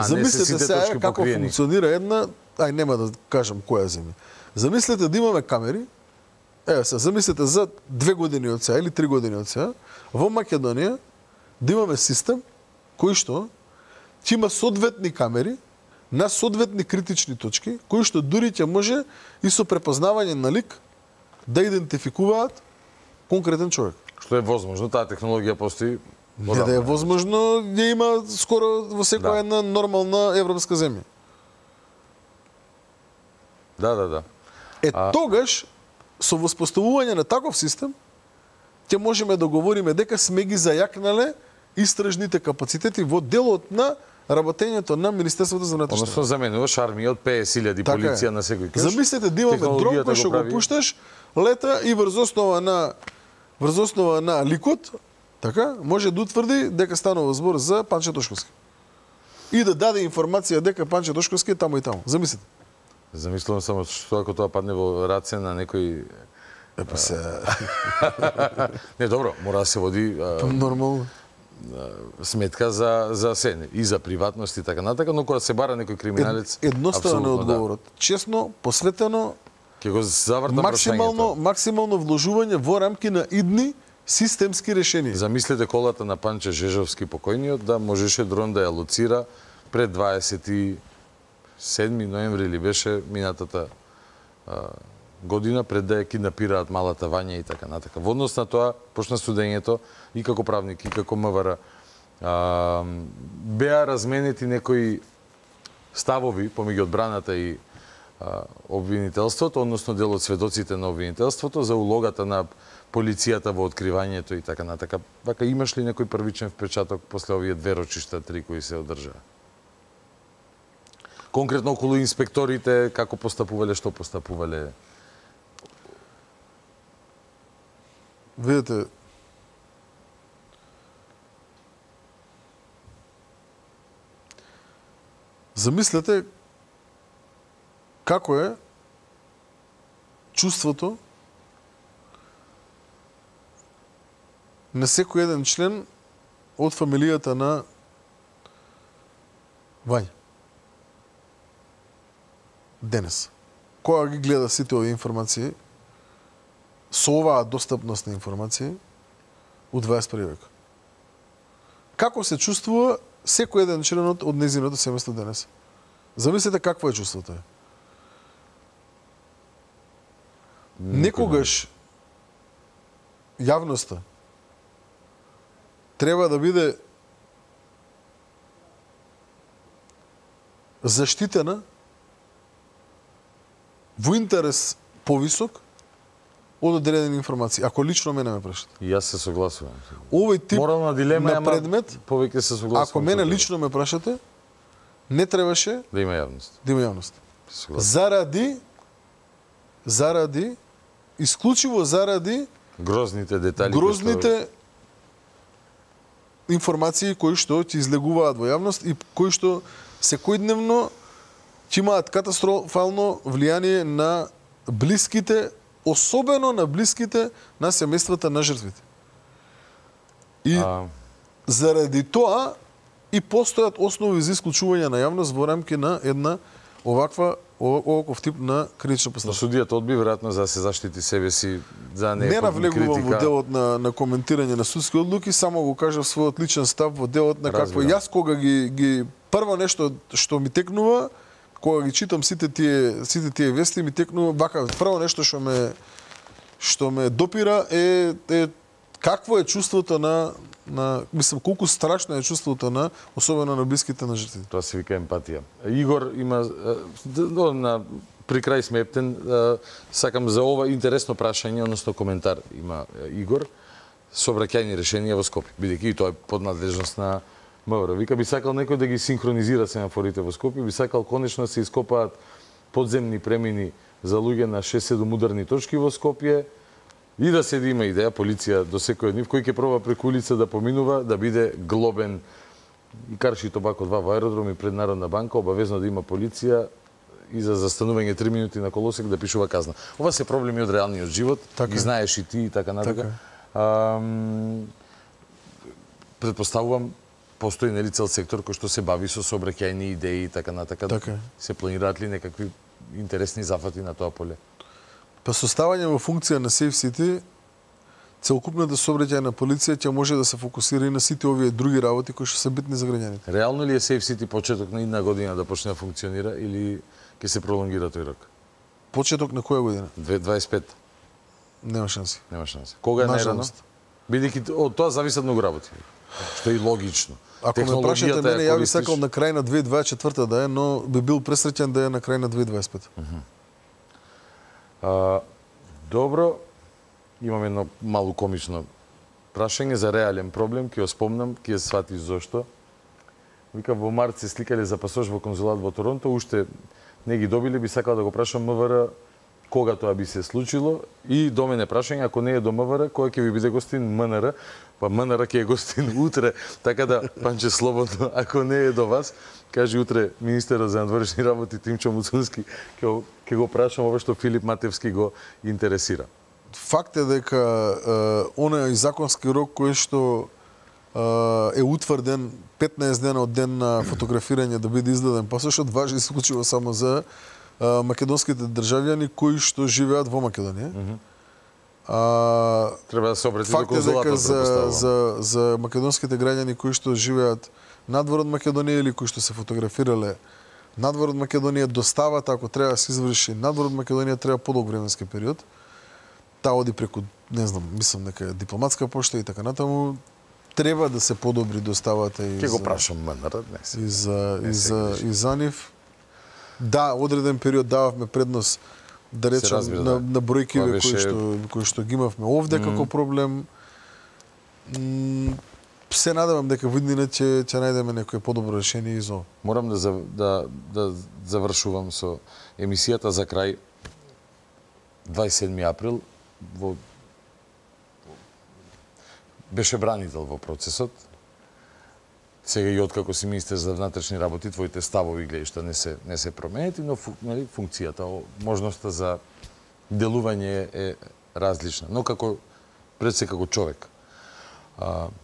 замислете не се сега точки како покриени. функционира една, нема да кажам која земја. Замислете да имаме камери, замислете за 2 години од сега или 3 години од сега, во Македонија да имаме систем кој што ќе има соодветни камери на соодветни критични точки, кои што дури ќе може и со препознавање на лик да идентификуваат конкретен човек. Што е возможно, таа технологија постои. Не да е возможно, ја има скоро во секоја една нормална европска земја. Да. Тогаш, со воспоставување на таков систем, ќе можеме да говориме дека сме ги зајакнале истражните капацитети во делот на работењето на Министерството за внатрешни работи. Односно заменуваш армија од 50.000 полиција на секој кеш. Замислете да имаме дрон кој што го пушташ, лета и врз основа на ликот, така, може да утврди дека станува збор за Панче Тошковски. И да даде информација дека Панче Тошковски е таму и таму. Замислете. Замислувам само што ако тоа падне во раце на некој... Не, добро, мора да се води... Нормално. Сметка за се, и за приватност и така натака, но кога се бара некој криминалец... Едноставен е одговорот. Честно, посветено, максимално вложување во рамки на идни системски решенија. Замислете колата на Панче Жежовски покојниот да можеше дрон да ја лоцира пред 27 ноември или беше минатата година пред да ја киднапираат малата Вања и така натака. Во однос на тоа почна судењето и како правник и како МВР Беа разменети некои ставови помеѓу одбраната и обвинителството, односно дел од сведоците на обвинителството за улогата на полицијата во откривањето и така натака. Вака имаш ли некој првичен впечаток после овие 2 рочишта, 3 кои се одржаа? Конкретно околу инспекторите, како постапувале, што постапувале? Видете, замислете како е чувството на секој еден член од фамилијата на Вања. Денес, кога ги гледа сите овие информации, со оваа достапност на информации, у 21 век. Како се чувствува секој еден член од незиното семејство денес? Замислете какво е чувството. Некогаш јавноста треба да биде заштитена во интерес повисок од одредени информации. Ако лично мене ме прашате. И јас се согласувам. Овој тип морална дилема на предмет, повеќе се согласувам. Ако мене лично ме прашате, не требаше да има јавност. Да има јавност. Заради исклучиво заради грозните детали, грозните информации кои што ќе излегуваат во јавност и кои што секојдневно ќе имаат катастрофално влијание на блиските, особено на блиските на семејствата на жртвите. И заради тоа и постојат основи за исклучување на јавност во рамки на една оваков тип на критична постапка. Судијата одби веројатно за да се заштити себе си, за не навлегувам во делот на коментирање на судски одлуки, само го кажав својот личен став во делот на какво јас кога ги прво нешто што ми текнува, кога ги читам сите тие вести, ми текнува вака прво нешто што ме допира е какво е чувството на мислам колку страшно е чувството на особено на блиските на жртвите. Тоа се вика емпатија. Игор има при крај сме ептен, сакам за ова интересно прашање, односно коментар има Игор, сообраќајни решенија во Скопје, бидејќи и тоа е под надлежност на МВР. Вика би сакал некој да ги синхронизира семафорите во Скопје, би сакал конечно да се ископаат подземни премини за луѓе на 6-7 ударни точки во Скопје и да се има идеја полиција до секој од нив кој ќе проба преку улица да поминува, да биде глобен и карши Тобако 2 во аеродром и пред Народна банка, обавезно да има полиција и за застанување 3 минути на колосек да пишува казна. Ова се проблеми од реалниот живот, ги знаеш и ти и така натака. Предпоставувам постои нели цел сектор кој што се бави со сообраќајни идеи и така натака. Се планираат ли некакви интересни зафати на тоа поле? Па составање во функција на Safe City, целокупната сообраќајна полиција ќе може да се фокусира и на сите овие други работи кои што се битни за граѓаните. Реално ли е Safe City почеток на една година да почне да функционира или ќе се пролонгира тој рок? Почеток на која година? 2025. Нема шанси. Нема шанси. Кога е најрано? Бидејќи од тоа зависат многу работи. Што е и логично. Ако ме прашате мене, ја би сакал на крај на 2024 да е, но би бил пресреќен да е на крај на 2025. Добро, имам едно мало комично прашање за реален проблем, ќе ја спомнам, ќе ја сватиш зошто. Вика, во март се сликале за пасош во конзулат во Торонто, уште не ги добиле, би сакал да го прашам МВР кога тоа би се случило и до мене прашање, ако не е до МВР, кога ќе ви биде гостин МНР, па МНР ќе е гостин утре, така да, Панче, слободно, ако не е до вас, кажи утре министерот за надворешни работи Тимчо Муцунски, ќе го прашам ова што Филип Матевски го интересира. Факт е дека оној законски рок кој што е утврден 15 дена од ден на фотографирање да биде издаден пасошот, важи исклучиво само за македонските државјани кои што живеат во Македонија. Треба да се обрати до конзулатот, за македонските граѓани кои што живеат надвор од Македонија или кои што се фотографирале надвор од Македонија, доставата ако треба да се изврши надвор од Македонија треба подолг временски период. Таа оди преку, не знам, мислам дека дипломатска пошта и така натаму. треба да се подобри доставата и Ќе го прашам МНР днес. И за нив. Да, одреден период дававме предност да речем на бројкиве кои што ги имавме овде како проблем. Се надевам дека во иднина ќе најдеме некое подобро решение и за. Морам да завршувам со емисијата за крај. 27 април беше бранител во процесот. Сега и откако си министер за внатрешни работи, твоите ставови гледишта не се променети, но функцијата, можноста за делување е различна. Но пред се како човек,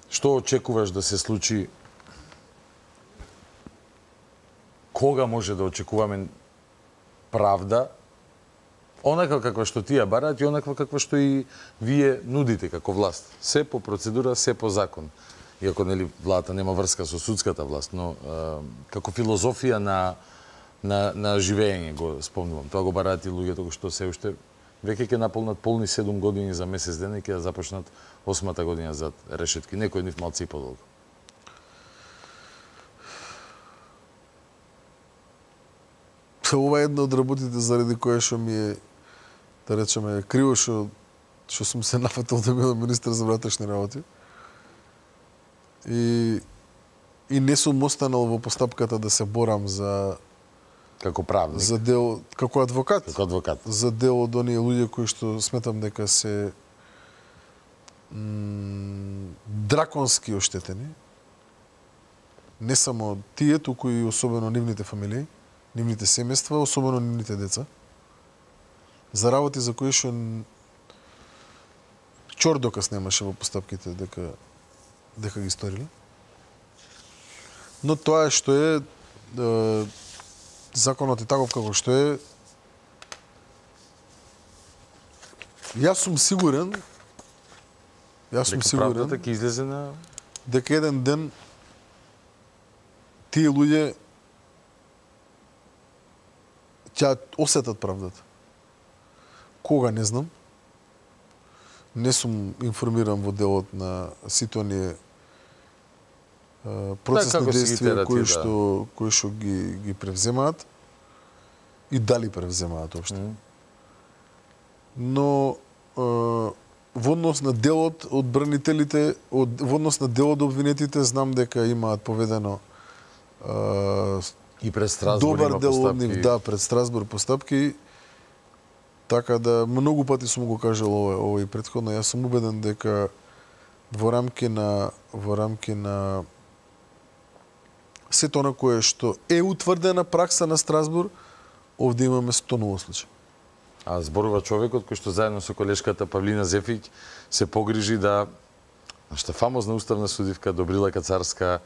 што очекуваш да се случи? Кога може да очекуваме правда? Онаква каква што тие бараат и онаква каква што и вие нудите како власт. Се по процедура, се по закон. Иако владата нема врска со судската власт, но како филозофија на живење го спомнувам. Тоа го бараат и луѓето кои што се уште веќе ќе наполнат полни 7 години за месец дена и ќе започнат 8-та година за решетки. Некој нив малци и подолго. Ова е една од работите заради која што ми е, да речеме, криво што сум се нафатил да бидам министер за внатрешни работи. И не сум останал во постапката да се борам за како правник, за дел како адвокат. Како адвокат. За дел од оние луѓе кои што сметам дека се драконски оштетени. Не само тие, туку и особено нивните фамилии, нивните семејства, особено нивните деца. За работи за кои што чор доказ немаше во постапките дека ги сториле. Но тоа што е законот е таков како што е. Јас сум сигурен правдата ќе излезе на дека еден ден тие луѓе ќе осетат правдата. Кога не знам. Не сум информиран во делот на сите оние процесни действија кои што ги превземаат и дали превземаат општо. Но во однос на делот од бранителите, во однос на делот од обвинетите, знам дека имаат поведено и пред Страсбур добар дел од нив, да, пред Страсбур постапки. Така да многу пати сум го кажал ова и претходно, јас сум убеден дека во рамки на сето на кое што е утврдена пракса на Страсбур, овде имаме 100 случаи. А зборува човекот кој што заедно со колешката Павлина Зефиќ се погрижи да нашата фамозна уставна судивка Добрила Кацарска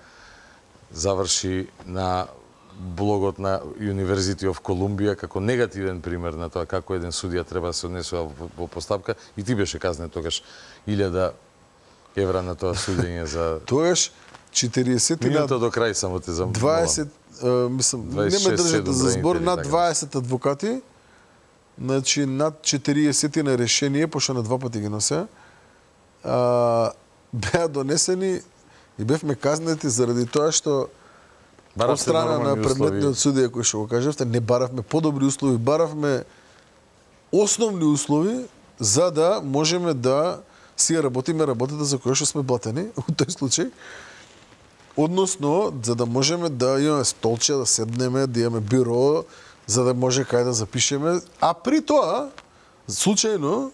заврши на блогот на University of Columbia како негативен пример на тоа како еден судија треба да се однесува во постапка, и ти беше казнет тогаш 1000 евра на тоа судење за тогаш 40 минута до крај само те за 20 мислам не ме држите за збор над 20 адвокати, значи над 40 на решение, пошто на 2 пати ги носе, беа донесени и бевме казнети заради тоа што од страна на предметниот судија кој што го кажавте, не баравме подобри услови, баравме основни услови за да можеме да си работиме работата за која што сме платени во тој случај. Односно, за да можеме да имаме столче, да седнеме, да имаме биро, за да може кај да запишеме, а при тоа, случајно,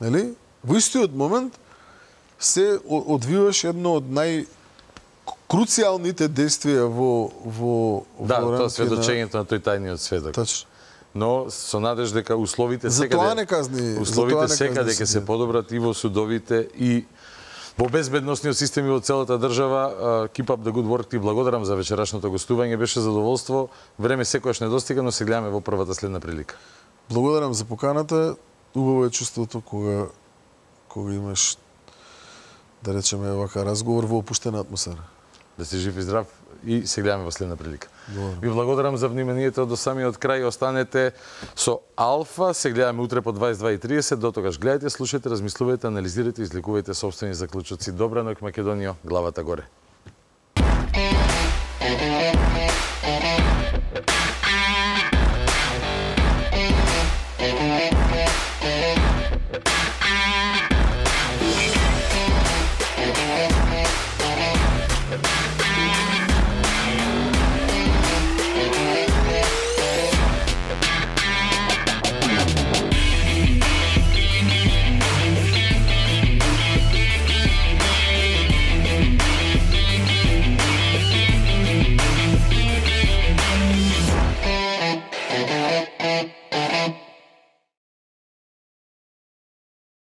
нели, во истиот момент се одвиваше едно од круцијалните действија во да, тоа сведочењето на тој тајниот сведок. Точно. Но со надеж дека условите секаде ќе се подобрат и во судовите и во безбедносниот систем и во целата држава. Keep up the good work, ти благодарам за вечерашното гостување, беше задоволство. Време секогаш недостига, но се гледаме во првата следна прилика. Благодарам за поканата. Убаво е чувството кога имаш, да речеме, вака разговор во опуштена атмосфера. Да си жив и здрав и се гледаме во следна прилика. Ви благодарам за вниманието до самиот крај. Останете со Алфа. Се гледаме утре по 22:30. До тогаш гледайте, слушайте, размислувајте, анализирайте и излекувајте собствени заклучоци. Добра ноќ, Македонија, главата горе.